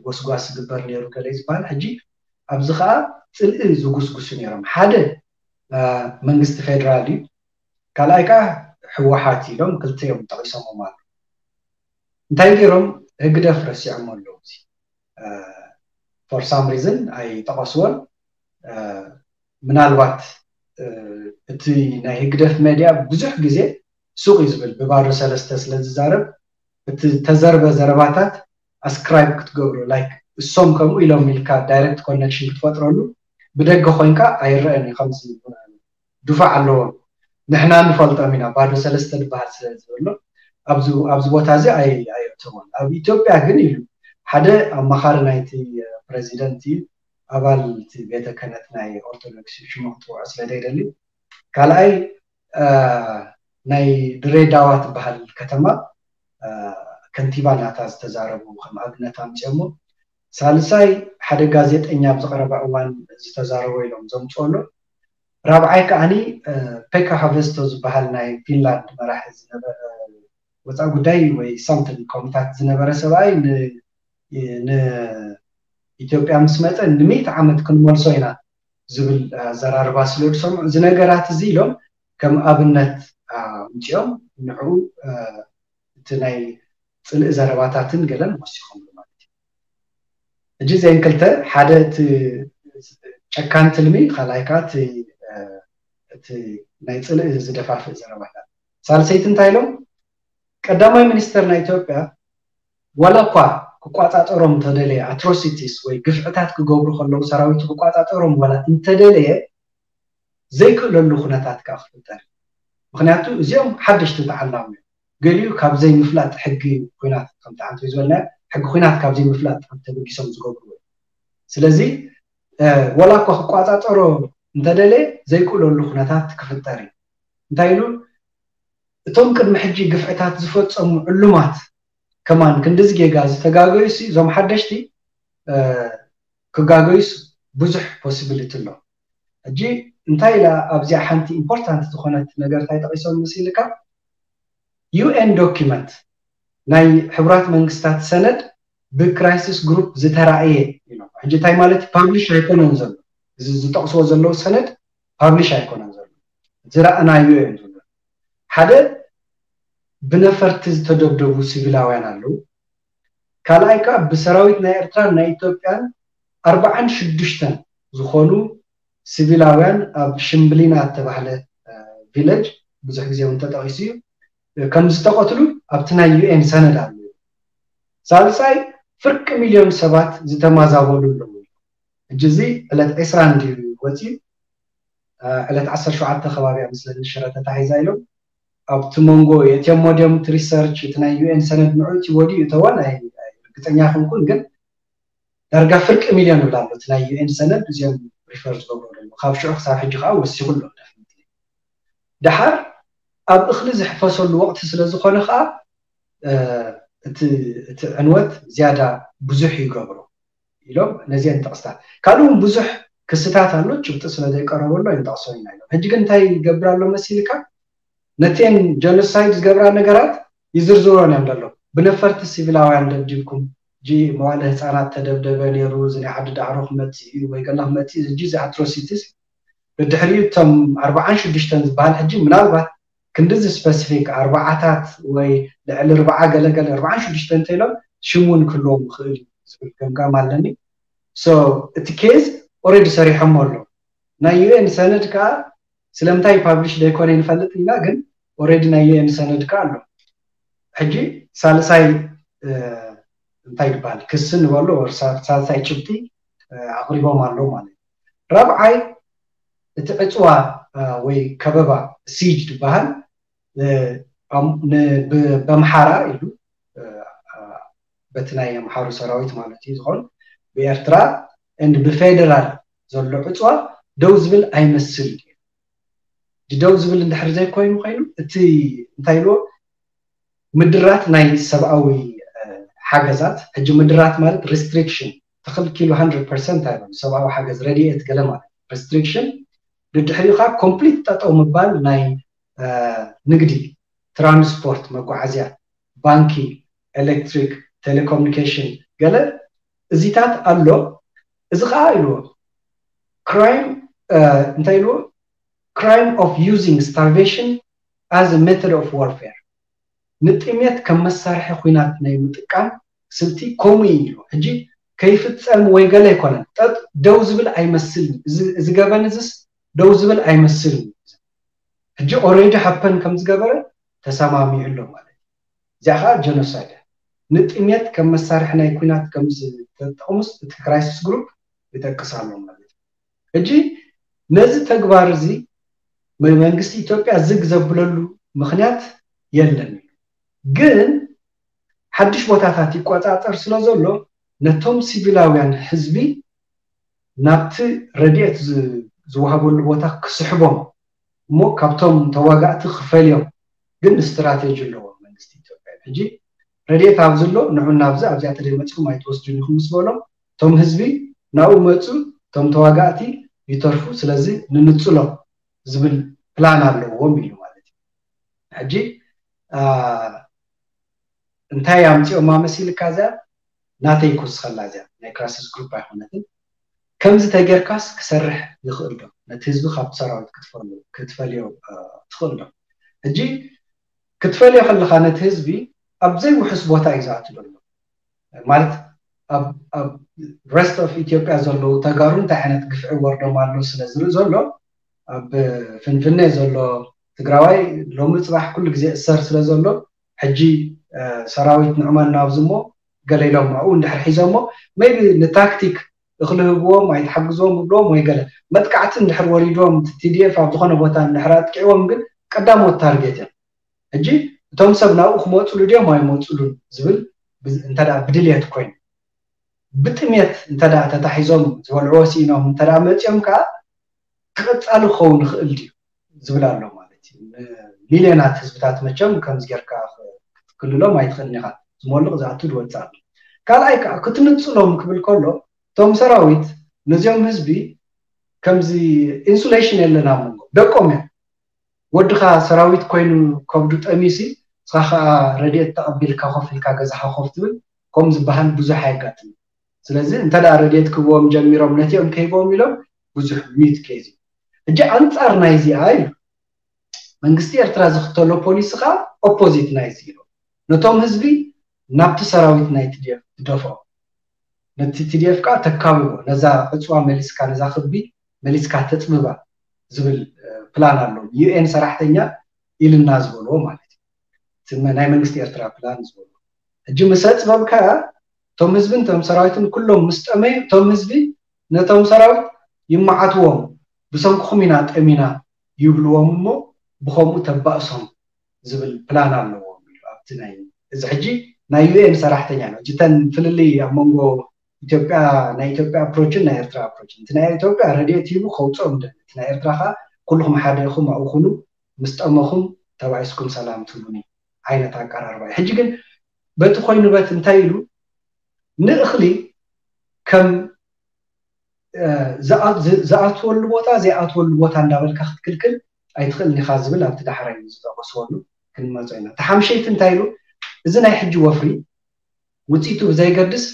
ጎስጓስ ዝግበር ነይሩ ገለ እዩ ዝበሃል ሕጂ ኣብዚ ከዓ ፅልኢ ዝጉስጉሱ ነይሮም ሓደ መንግስቲ ፌደራል እዩ ካልኣይ ከዓ ህወሓት ኢሎም ክልተ እዮም ጠቂሶሞም ኣሎ እንታይ ገይሮም ህግደፍ ረሲዖም ኣለዉ እዚ for some reason ኣይጠቐስዎን ምናልባት እቲ ናይ ህግደፍ ሜድያ ብዙሕ ግዜ ሱቕ እዩ ዝብል ብባዶ ሰለስተ ስለ ዝዛረብ እቲ ተዘርበ ዘረባታት ኣስክራይብ ክትገብሩ ላይክ እሶም ከምኡ ኢሎም ኢልካ ዳይረክት ኮነክሽን ክትፈጥረሉ ብደገ ኮይንካ ኣይረአን እዩ ከምዚ ዱፋዕ ኣለዎም ንሕና ንፈልጦም ኢና ባዶ ሰለስተ ዝበሃል ስለ ዝበሎ ኣብዚ ቦታ እዚ ኣየእተዎን ኣብ ኢትዮጵያ ግን ኢሉ ሓደ ኣማኻሪ ናይቲ ፕረዚደንት እዩ ኣባል እቲ ቤተ ክህነት ናይ ኦርቶዶክስ ሽሙ ክትውዖ ስለ ዘይደሊ ካልኣይ ናይ ድሬዳዋ ትበሃል ከተማ ከንቲባ ናታ ዝተዛረቡ ከም ኣብነት ኣምፅኦሞ ሳልሳይ ሓደ ጋዜጠኛ ኣብ ዝቐረበ እዋን ዝተዛረቦ ኢሎም ዘምፅኦ ኣሎ ራብዓይ ከዓኒ ፔካ ሃቨስቶ ዝበሃል ናይ ፊንላንድ መራሒ ዝነበረ ወፃኢ ጉዳይ ወይ ሳምትን ኮሚታት ዝነበረ ሰብኣይ ንኢትዮጵያ ምስ መፀ ንምእቲ ዓመት ክንመልሶ ኢና ዝብል ኣዘራርባ ስለ ዝሰምዑ እዚ ነገራት እዚ ኢሎም ከም ኣብነት ኣምፅኦም ንዕኡ እቲ ናይ ፅልኢ ዘረባታትን ገለን ወሲኾምሉ ማለት እዩ። ሕጂ እዚአን ክልተ ሓደ እቲ ጨካን ትልሚ ካልኣይ ከዓ እቲ ናይ ፅልኢ ዝደፋፍእ ዘረባታት ሳልሰይቲ እንታይ ኢሎም ቀዳማይ ሚኒስተር ናይ ኢትዮጵያ ዋላ እኳ ክቋፃፀሮም እንተደለየ ኣትሮሲቲስ ወይ ግፍዕታት ክገብሩ ከለዉ ሰራዊቱ ክቋፃፀሮም ዋላ እንተደለየ ዘይክእለሉ ኩነታት ከዓ ክፍጠር እዩ ምክንያቱ እዚኦም ሓደሽቲ ተዓላሙ እዮም ገሊኡ ካብ ዘይምፍላጥ ሕጊ ኩናት ከምቲ ዓንቶ ዝበልና ሕጊ ኩናት ካብ ዘይምፍላጥ ተበጊሶም ዝገብርዎ እዩ ስለዚ ወላ እኳ ክቋፃፀሮ እንተደለየ ዘይክእለሉ ኩነታት ክፍጠር እዩ እንታይ ኢሉ እቶም ቅድሚ ሕጂ ግፍዕታት ዝፈፀሙ ዕሉማት ከማን ክንድዚ ጌጋ ዝተጋገዩሲ እዞም ሓደሽቲ ክጋገዩስ ብዙሕ possibility ኣሎ ሕጂ እንታይ ኢላ ኣብዚኣ ሓንቲ important ዝኾነት ነገር እንታይ ጠቂሶም ምስ ኢልካ UN document ናይ ሕቡራት መንግስታት ሰነድ ብ crisis group ዝተራእየ ኢሎም ሕጂ እንታይ ማለት publish ኣይኮነን ዘሎ እዚ ዝጠቅስዎ ዘለዉ ሰነድ publish ኣይኮነን ዘሎ ዝረኣናዮ እዮም ዝብሉ ሓደ ብነፈርቲ ዝተደብደቡ ሲቪላውያን ኣለዉ። ካልኣይ ከዓ ብሰራዊት ናይ ኤርትራን ናይ ኢትዮጵያን ኣርባዓን ሽዱሽተን ዝኾኑ ሲቪላውያን ኣብ ሽምብሊና እተባህለ ቪለጅ ብዙሕ ግዜ እውን ተጠቒሱ እዩ ከም ዝተቐትሉ ኣብቲ ናይ ዩኤን ሰነድ ኣሎ። ሳልሳይ ፍርቂ ሚልዮን ሰባት ዝተማዛበሉ ኣለዉ። ሕጂ እዚ ዕለት ዕስራ እንድዩ ወፂኡ። ዕለት ዓሰርተ ሸውዓተ ከባቢ ኣብ ምስለ ሽረ ተታሒዛ ኢሎም ኣብቲ መንጎ የትየሞ ድዮም እቲ ሪሰርች እቲ ናይ ዩኤን ሰነድ ንዑ እቲ ወዲኡ እተወ ናይ ርግፀኛ ክንኩን ግን ዳርጋ ፍርቂ ሚልዮን ይብል ኣሎ እቲ ናይ ዩኤን ሰነድ እዚኦም ሪፈር ዝገብሩ ኣለዉ ካብ ሽዑ ክሳብ ሕጂ ከዓ ወሲኹ ኣሎ። ደሓር ኣብ እኽሊ ዝሕፈሰሉ ወቕቲ ስለ ዝኾነ ከዓ እቲ ዕንወት ዝያዳ ብዙሕ ይገብሮ ኢሎም ነዚአን ጠቕስታት ካልእ እውን ብዙሕ ክስታት ኣሎ ጭብጢ ስለ ዘይቀረበሉ ኣይንጠቕሶ ኢና ኢሎም። ሕጂ ግን እንታይ ይገብር ኣሎ መሲልካ ነተን ጀኖሳይድ ዝገብራ ነገራት ይዝርዝሮን እዮም ዘሎ። ብነፈርቲ ሲቪላውያን ደብዲብኩም ጂ መዋለ ህፃናት ተደብደበ ነይሩ እዚ ናይ ዓዲ ዳዕሮ ክመፅእ እዩ ወይ ገለ ክመፅእ እዚ ጂ እዚ ኣትሮሲቲስ ብድሕሪኡ እቶም ኣርባዓን ሽዱሽተን ዝበሃል ሕጂ ምናልባት ክንድዚ ስፐሲፊክ ኣርባዓታት ወይ ልዕሊ ርብዓ ገለገለ ኣርባዓን ሽዱሽተ እንተኢሎም ሽሙን ክህልዎም ይኽእል እዩ ዝብል ገምጋም ኣለኒ። እቲ ኬዝ ኦረዲ ሰሪሖሞ ኣሎ። ናይ ዩኤን ሰነድ ከዓ ስለምንታይ ፓብሊሽ ዘይኮነ ንፈልጥ ኢና፣ ግን ኦረዲ ናይ ዩኤን ሰነድ ከዓ ኣሎ። ሕጂ ሳልሳይ እንታይ ይበሃል ክሲ ንበሎ ሳልሳይ ጭብጢ ኣቕሪቦም ኣለዉ ማለት እዩ። ራብዓይ እቲ ዕፅዋ ወይ ከበባ ሲጅ ዝበሃል በምሓራ ኢሉ በቲ ናይ ኣምሓሩ ሰራዊት ማለት እዩ ዝኾን ብኤርትራ ብፌደራል ዘሎ ዕፅዋ ደው ዝብል ኣይመስል እዩ። ደው ዝብል እንድሕር ዘይኮይኑ ኮይኑ እቲ እንታይ ኢልዎ ምድራት ናይ ሰብኣዊ ሓገዛት ሕጂ ምድራት ማለት ሪስትሪክሽን ተኽልኪሉ ሃንድረድ ፐርሰንት ኣይበሉ ሰብኣዊ ሓገዝ ረድኤት ገለ ማለት ሪስትሪክሽን ድድሕሪኡ ከዓ ኮምፕሊት ጠጠው ምባል ናይ ንግዲ ትራንስፖርት መጓዓዝያ ባንኪ ኤሌክትሪክ ቴሌኮሙኒኬሽን ገለ እዚታት ኣሎ። እዚ ከዓ ኢልዎ ክራይም እንታይ ኢልዎ crime of using starvation as a method of warfare ንጥሜት ከም መሳርሒ ኩናት ናይ ምጥቃም ስልቲ ከምኡ እዩ ኢሉ ሕጂ ከይፍፀም ወይ ገለ ኣይኮነን ጠጥ ደው ዝብል ኣይመስልን እዚ ገበን እዚስ ደው ዝብል ኣይመስልን ሕጂ already happen ከም ዝገበረ ተሰማሚዑ ኣሎ ማለት እዩ እዚኣ ከዓ ጀኖሳይድ ንጥሜት ከም መሳርሒ ናይ ኩናት ከም ዝተጠቅሙስ እቲ crisis group ይጠቅስ ኣሎ ማለት እዩ ሕጂ ነዚ ተግባር እዚ መንግስቲ ኢትዮጵያ ዝግ ዘብለሉ ምክንያት የለን ግን ሓድሽ ቦታታት ይቆፃፀር ስለ ዘሎ ነቶም ሲቪላውያን ህዝቢ ናብቲ ረድኤት ዝወሃበሉ ቦታ ክስሕቦም እሞ ካብቶም ተዋጋእቲ ክፈልዮም ግን ስትራቴጂ ኣለዎ መንግስቲ ኢትዮጵያ ሕጂ ረድኤት ኣብዚ ኣሎ ንዑ ናብዚ ኣብዚኣ ተደይ መፅኩም ኣይትወስዱን ኢኹም ምስ በሎም እቶም ህዝቢ ናብኡ መፁ እቶም ተዋጋእቲ ይተርፉ ስለዚ ንንፅሎም ዝብል ፕላን ኣለዎም ኢሉ ማለት እዩ ሕጂ እንታይ ኣምፂኦማ መሲልካ እዚኣ ናተይ ክውስኸላ እዚኣ ናይ crisis group ኣይኮነትን ከምዚ ተጌርካስ ክሰርሕ ይኽእል ዶ ነቲ ህዝቢ ካብቲ ሰራዊት ክትፈልዮ ትኽእል ዶ ሕጂ ክትፈልዮ ከለካ ነቲ ህዝቢ ኣብ ዘይውሕስ ቦታ እዩ ዝኣቱ ዘሎ ማለት ኣብ rest of ኢትዮጵያ ዘለዉ ተጋሩ እንታይ ዓይነት ግፍዒ ወርዶም ኣሎ ስለ ዝርኢ ዘሎ ኣብ ፍንፍነ ዘሎ ትግራዋይ ሎሚ ፅባሕ ኩሉ ግዜ እሰር ስለ ዘሎ ሕጂ ሰራዊት ንዕመና ኣብዚ እሞ ገለ ኢሎም ኣብኡ እንድሕር ሒዞሞ maybe ንታክቲክ እኽሊ ህብዎም ኣይትሓግዝዎም ይብልዎም ወይ ገለ መጥቃዕቲ እንድሕር ወሪድዎም TDF ኣብ ዝኾነ ቦታ እንድሕር ኣጥቂዕዎም ግን ቀዳሞት ታርጌት እዮም ሕጂ እቶም ሰብ ናብኡ ክመፅሉ ድዮም ኣይመፅሉን ዝብል እንተ ብድልየት ኮይኑ ብጥሜት እንተ ተታሒዞም ዝበልዕዎ ስኢኖም እንተ መፂኦም ከዓ ክቐፃሊ ክኸውን ይኽእል ድዩ ዝብል ኣሎ ማለት እዩ ሚልዮናት ህዝብታት መቸም ከምዚ ጌርካ ክትክልሎም ኣይትኽእልን ኢኻ ዝመልቕ ዝኣቱ ዝወፅእ ኣሎ ካልኣይ ከዓ ክትንፅሎም ክብል ከሎ እቶም ሰራዊት ነዚኦም ህዝቢ ከምዚ ኢንሱሌሽን የለና መንጎ ደቆም እዮም ወድኻ ሰራዊት ኮይኑ ከብዱ ጠሚሲ ንስኻ ከዓ ረድኤት ተቐቢልካ ኮፍ ኢልካ ገዛኻ ኮፍ ትብል ከም ዝበሃል ብዙሕ ኣየጋጥም ስለዚ እንተ ረድኤት ክህብዎም ጀሚሮም ነቲኦም ከሂቦም ኢሎም ብዙሕ ሚት ኬዝ እዩ ሕጂ ኣንፃር ናይዚኣ እዩ መንግስቲ ኤርትራ ዝኽተሎ ፖሊሲ ከዓ ኦፖዚት ናይ ዝኢሎ ነቶም ህዝቢ ናብቲ ሰራዊት ናይ ቲዲኤፍ ትደፍኦ፣ ነቲ ቲዲኤፍ ከዓ ተካብቦ፣ ነዛ ዕፅዋ መሊስካ፣ ነዛ ክቢ መሊስካ ተፅብባ ዝብል ፕላን ኣሎ። ዩኤን ሰራሕተኛ ኢልና ዝበልዎ ማለት እዩ፣ ናይ መንግስቲ ኤርትራ ፕላን ዝበልዎ። ሕጂ ምስ ኣፅበብካ እቶም ህዝብን እቶም ሰራዊትን ኩሎም ምስ ጠመዩ፣ እቶም ህዝቢ ነቶም ሰራዊት ይመዓትዎም፣ ብሰንክኹም ኢና ጠሚና ይብልዎም እሞ ብኸምኡ ተባእሶም ዝብል ፕላን ኣለዎም። ኣብቲ ናይ እዚ ሕጂ ናይ ዩኤን ሰራሕተኛ ነው። እተን ፍልልይ ኣብ መንጎ ኢትዮጵያ፣ ናይ ኢትዮጵያ ኣፕሮችን ናይ ኤርትራ ኣፕሮችን፣ እቲ ናይ ኢትዮጵያ ረድኤት ሂቡ ከውፅኦም ደ፣ እቲ ናይ ኤርትራ ከዓ ኩልኹም ሓደ ኢኹም ኣብኡ ኩኑ፣ ምስ ጠመኹም ተባኢስኩም ሰላም ትብሉኒ ዓይነት ኣቀራርባ እዩ። ሕጂ ግን በቲ ኮይኑ በት እንታይ ኢሉ ንእኽሊ ከም ዝኣትወሉ ቦታ ዘይኣትወሉ ቦታ እንዳበልካ ክትክልክል ኣይትኽእልን ኢኻ ዝብል ኣብቲ ዳሕራይ ዝጠቀስወሉ ክንመፆ ኢና። እቲ ሓምሸይቲ እንታይ ኢሉ? እዚ ናይ ሕጂ ወፍሪ ውፅኢቱ ብዘይገድስ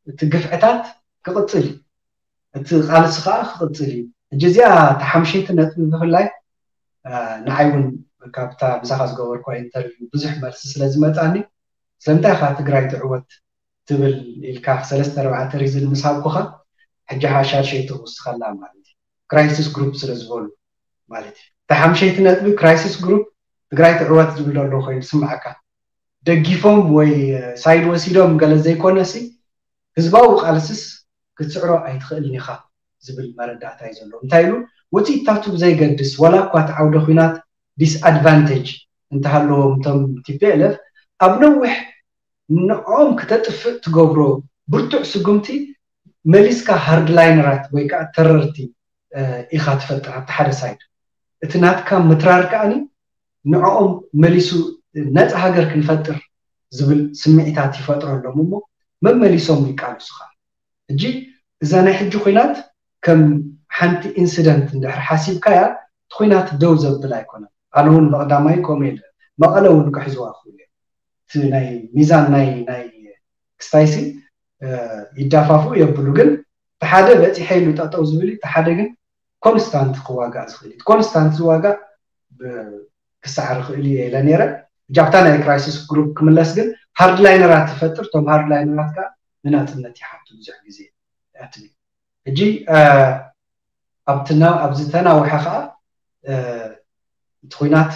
እቲ ግፍዕታት ክቕፅል እዩ፣ እቲ ቃልሲ ከዓ ክቕፅል እዩ። ሕጂ እዚኣ እቲ ሓምሸይቲ ነጥቢ ብፍላይ ንዓይ እውን ካብታ ብዛኻ ዝገበርኳ ኢንተርቪው ብዙሕ መልሲ ስለ ዝመፃኒ ስለምንታይ ኢኻ ትግራይ ትዕወት ትብል ኢልካ ሰለስተ ኣርባዕተ ሪዝን ምስ ሃብኩኻ ሕጂ ሓሻል ሸይቱ ክውስኸላ ማለት እዩ። ክራይሲስ ግሩፕ ስለ ዝበሉ ማለት እዩ። እቲ ሓምሸይቲ ነጥቢ ክራይሲስ ግሩፕ ትግራይ ትዕወት ዝብል ዘሎ ኮይኑ ስምዓካ፣ ደጊፎም ወይ ሳይድ ወሲዶም ገለ ዘይኮነሲ ህዝባዊ ቃልስስ ክትስዕሮ ኣይትኽእልን ኢኻ ዝብል መረዳእታ እዩ ዘሎ። እንታይ ኢሉ? ውፅኢታቱ ብዘይገድስ ዋላ እኳ እቲ ዓውደ ኲናት ዲስኣድቫንቴጅ እንተሃለዎም እቶም ቲፒኤልኤፍ ኣብ ነዊሕ ንዕኦም ክተጥፍእ ትገብሮ ብርቱዕ ስጉምቲ መሊስካ ሃርድላይነራት ወይ ከዓ ተረርቲ ኢኻ ትፈጥር ኣብቲ ሓደ ሳይድ። እቲ ናትካ ምትራር ከዓኒ ንዕኦም መሊሱ ነፃ ሃገር ክንፈጥር ዝብል ስምዒታት ይፈጥረሎም እሞ መመሊሶም ይቃልሱ ከዓ። ሕጂ እዛ ናይ ሕጂ ኩናት ከም ሓንቲ ኢንሲደንት እንድሕር ሓሲብካያ እቲ ኩናት ደው ዘብል ኣይኮነን። ኣነ እውን ብቐዳማይ ከምኡ ኢለ መቐለ እውን ክሕዝዋ ክኽእሉ እዮም። እቲ ናይ ሚዛን ናይ ናይ ክስታይሲ ይዳፋፉ የብሉ፣ ግን እቲ ሓደ በፂሐ ኢሉ ጠጠው ዝብል እዩ፣ እቲ ሓደ ግን ኮንስታንት ክዋጋእ ዝኽእል እዩ። ኮንስታንት ዝዋጋእ ክሰዓር ይኽእል እዩ ኢለ ነይረ። ሕጂ ኣብታ ናይ ክራይሲስ ግሩፕ ክምለስ ግን ሃርድላይነራት ትፈጥር፣ እቶም ሃርድላይነራት ከዓ ንናፅነት ይሓቱ ብዙሕ ግዜ ትብል። ሕጂ ኣብቲ ኣብዚ ተናውሐ ከዓ እቲ ኩናት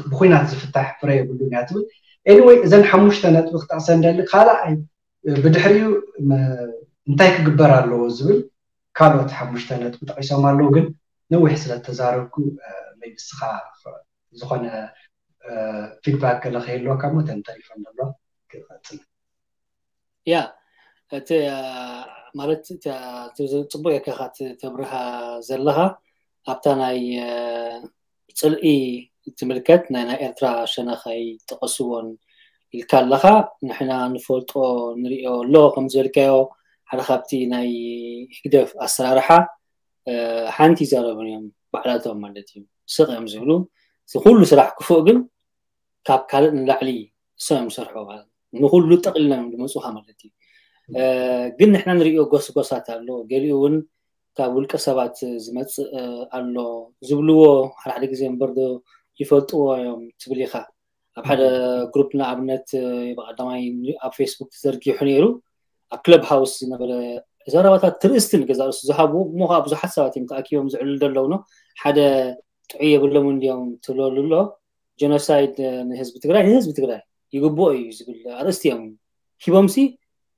ብኩናት ዝፍታሕ ፍረ የብሉን እያ ትብል። ኤኒወይ እዘን ሓሙሽተ ነጥቢ ክጠቕሰ እንደሊ ካልኣይ ብድሕሪኡ እንታይ ክግበር ኣለዎ ዝብል ካልኦት ሓሙሽተ ነጥቢ ጠቂሶም ኣለዉ፣ ግን ነዊሕ ስለ ተዛረብኩ ሜቢ ንስኻ ዝኾነ ፊድባክ ገለ ከይህልወካ እሞ እተን ተሪፈን ዘሎ ክቐፅል። ያ እቲ ማለት ጽቡቅ የከኻ ተብርሃ ዘለኻ ኣብታ ናይ ፅልኢ ትምልከት ናይ ናይ ኤርትራ ሸነኻይ ጠቀስዎን ኢልካ ኣለኻ። ንሕና ንፈልጦ ንሪኦ ኣሎ ከም ዝበልካዮ ሓደ ካብቲ ናይ ህግደፍ ኣሰራርሓ ሓንቲ ይዛረቡን እዮም ባዕላቶም ማለት እዩ። ስቕ እዮም ዝብሉ። እቲ ኩሉ ስራሕ ክፉእ ግን ካብ ካልእ ንላዕሊ እሶም እዮም ዝሰርሑ ማለት ንኩሉ ጠቕልሎም እዮም ዝመፁኻ ማለት እዩ። ግን ንሕና ንሪኦ ጎስጎሳት ኣሎ። ገሊኡ እውን ካብ ውልቀ ሰባት ዝመፅእ ኣሎ ዝብልዎ ሓደ ሓደ ግዜ እምበር ዶ ይፈልጥዎ እዮም ትብል ኢኻ። ኣብ ሓደ ግሩፕ ንኣብነት ብቀዳማይ ኣብ ፌስቡክ ተዘርጊሑ ነይሩ። ኣብ ክለብ ሃውስ ዝነበረ ዘረባታት ትርእስቲ ንገዛ ርእሱ ዝሃብዎ እሞ ከዓ ብዙሓት ሰባት እዮም ተኣኪቦም ዝዕልሉ ዘለዉ ነው። ሓደ ጥዑይ የብሎም እንዲዮም ትብለሉ ኣሎ። ጀኖሳይድ ንህዝቢ ትግራይ ንህዝቢ ትግራይ ይግብኦ እዩ ዝብል ኣርእስቲ እዮም ሂቦምሲ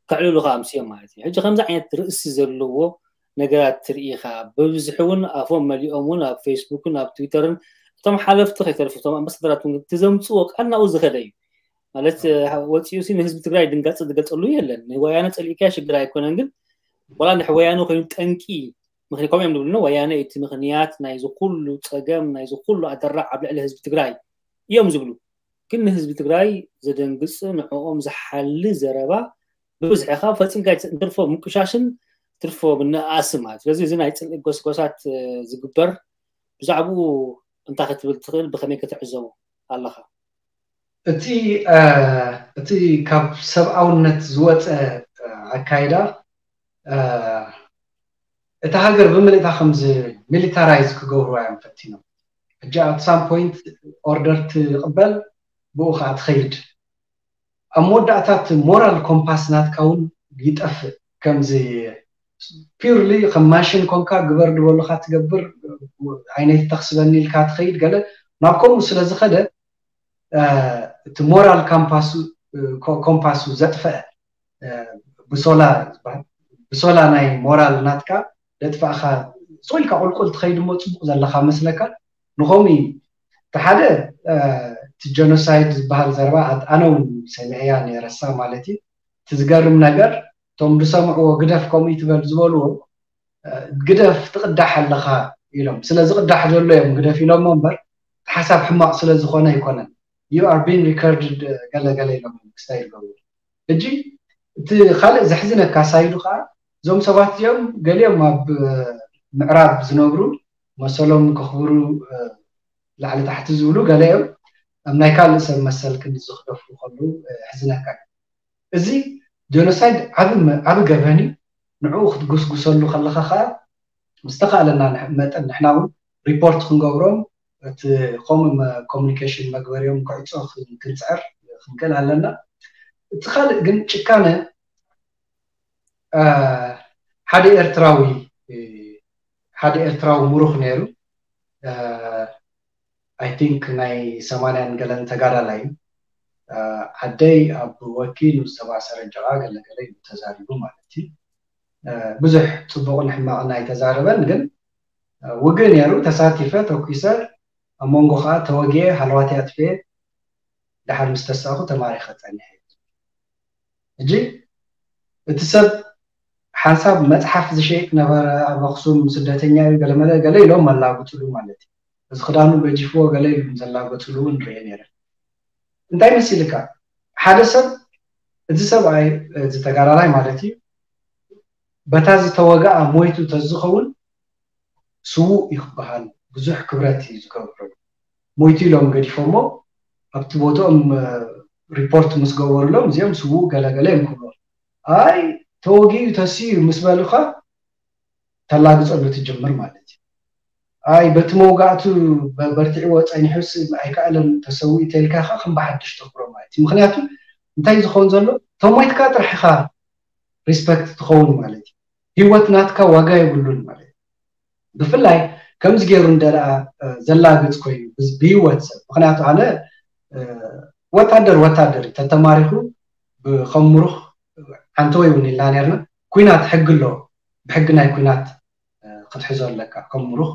ከዕልሉ ከዓ ኣምስዮም ማለት እዩ። ሕጂ ከምዚ ዓይነት ርእሲ ዘለዎ ነገራት ትርኢ ኢኻ። ብብዝሒ እውን ኣፎም መሊኦም እውን ኣብ ፌስቡክን ኣብ ትዊተርን እቶም ሓለፍቲ ከይተርፉ እቶም ኣምባሳደራት እውን እቲ ዘምፅዎ ቃል ናብኡ ዝኸደ እዩ ማለት ወፂኡ ሲ ንህዝቢ ትግራይ ድንጋፀ ዝገልፀሉ የለን። ንወያነ ፀሊእካዮ ሽግር ኣይኮነን፣ ግን ዋላ ንወያነ ኮይኑ ጠንቂ ምክንያት ከምኡ እዮም ዝብሉ ወያነ እቲ ምክንያት ናይዚ ኩሉ ፀገም ናይዚ ኩሉ ኣደራዕ ኣብ ልዕሊ ህዝቢ ትግራይ እዮም ዝብሉ። ግን ንህዝቢ ትግራይ ዘደንግፅ ንዕኦም ዝሓሊ ዘረባ ብብዝሒ ካብ ፈፂምካ ትርፎ ምቁሻሽን ትርፎ ምንእኣስን ማለት ስለዚ እዚ ናይ ፅልኢ ጎስጎሳት ዝግበር ብዛዕባኡ እንታይ ክትብል ትኽእል? ብኸመይ ከተዕዘቦ ኣለኻ? እቲ እቲ ካብ ሰብኣውነት ዝወፀ ኣካይዳ እታ ሃገር ብምልእታ ከምዚ ሚሊታራይዝ ክገብርዋ እዮም ፈቲኖም። ሕጂ at some point order ትቕበል፣ ብኡ ከዓ ትኸይድ። ኣብ መወዳእታ እቲ moral compass ናትካ እውን ይጠፍእ። ከምዚ purely ከም ማሽን ኮንካ ግበር ዝበሉካ ትገብር፣ ዓይነት ተኽስበኒ ኢልካ ትኸይድ። ገለ ናብ ከምኡ ስለ ዝኸደ እቲ moral compass compass ዘጥፈአ ብሶላ ዝበሃል ብሶላ ናይ ሞራል ናትካ ደጥፋእካ ስቕ ኢልካ ቁልቁል ትኸይድ እሞ ፅቡቕ ዘለካ መስለካ። ንኸምኡ እዩ እቲ ሓደ እቲ genocide ዝበሃል ዘረባ ኣነ እውን ሰሚዐያ ነረሳ ማለት እዩ። እቲ ዝገርም ነገር እቶም ዝሰምዕዎ ግደፍ ከምኡ ትበል ዝበልዎ ግደፍ ትቕዳሕ ኣለኻ ኢሎም ስለ ዝቕዳሕ ዘሎ እዮም ግደፍ ኢሎሞ እምበር ሓሳብ ሕማቕ ስለ ዝኾነ ኣይኮነን። You are being recorded ገለ ገለ ኢሎም ክስታይ ይገብሩ። ሕጂ እቲ ካልእ ዘሕዝነካ ሳይዱ ከዓ እዞም ሰባት እዚኦም ገሊኦም ኣብ ምዕራብ ዝነብሩ መሰሎም ከኽብሩ ላዕሊ ታሕቲ ዝብሉ ገሊኦም ኣብ ናይ ካልእ ሰብ መሰል ክንዲ ዝኽደፉ ከለዉ ሕዝነካ እዩ። እዚ genocide ዓቢ ገበን እዩ። ንዕኡ ክትጉስጉሰሉ ከለኻ ከዓ ዝተኻእለና መጠን ንሕና እውን ሪፖርት ክንገብሮም እቲ ከምኡ communication መግበሪኦም ክዕፆ ክንፅዕር ክንክእል ኣለና። እቲ ካልእ ግን ጭካነ ሓደ ኤርትራዊ ሓደ ኤርትራዊ ምሩኽ ነይሩ። I think ናይ ሰማንያን ገለን ተጋዳላይ እዩ። ዓደይ ኣብ ወኪ ንዝተባሰረ ጀቓ ገለገለ እዩ ተዛሪቡ ማለት እዩ። ብዙሕ ፅቡቕን ሕማቕን ኣይተዛረበን፣ ግን ውግእ ነይሩ። ተሳቲፈ፣ ተኩሰ፣ ኣብ መንጎ ከዓ ተወጊኤ፣ ሃለዋት ኣጥፍኤ፣ ደሓር ምስ ተሳእኹ ተማሪኸ ፀኒሐ። ሕጂ እቲ ሰብ ሓንሳብ መፅሓፍ ዝሸይጥ ነበረ ኣብ ኣክሱም፣ ስደተኛ እዩ፣ ገለመለ ገለ ኢሎም ኣላግፅሉ ማለት እዩ። እዚ ክዳኑ ገጂፍዎ ገለ ኢሉ ዘላገፅሉ እውን ርኤ ነይረ። እንታይ መሲልካ? ሓደ ሰብ፣ እዚ ሰብኣይ፣ እዚ ተጋዳላይ ማለት እዩ፣ በታ ዝተወግኣ ሞይቱ ተዝኸውን ስዉእ እዩ ክበሃል ብዙሕ ክብረት እዩ ዝገብረሉ። ሞይቱ ኢሎም ገዲፎሞ ኣብቲ ቦትኦም ሪፖርት ምስ ገበሩሎም እዚኦም ስዉእ ገለገለ እዮም ክብሎ። ኣይ ተወጊኡ ተስዩ ምስ በሉኻ ተላግፀሉ ትጅምር ማለት እዩ። ኣይ በቲ መውጋእቱ በርቲዕዎ ፀኒሑስ ኣይከኣለን ተሰዊኡ ተልካ ከዓ ከም ብሓድሽ ተኽብሮ ማለት እዩ። ምክንያቱ እንታይ ዝኸውን ዘሎ ተሞይትካ ጥራሕ ኢኻ ሪስፐክት ትኸውን ማለት እዩ። ህይወት ናትካ ዋጋ የብሉን ማለት እዩ። ብፍላይ ከምዚ ገይሩ እንደ ደኣ ዘላግፅ ኮይኑ ብህይወት ሰብ፣ ምክንያቱ ኣነ ወታደር ወታደር እዩ፣ ተተማሪኹ ብከም ምሩኽ ዓንተወይ እውን ኢልና ነርና። ኩናት ሕጊ ኣሎ፣ ብሕጊ ናይ ኩናት ክትሕዞ ኣለካ፣ ከም ምሩኽ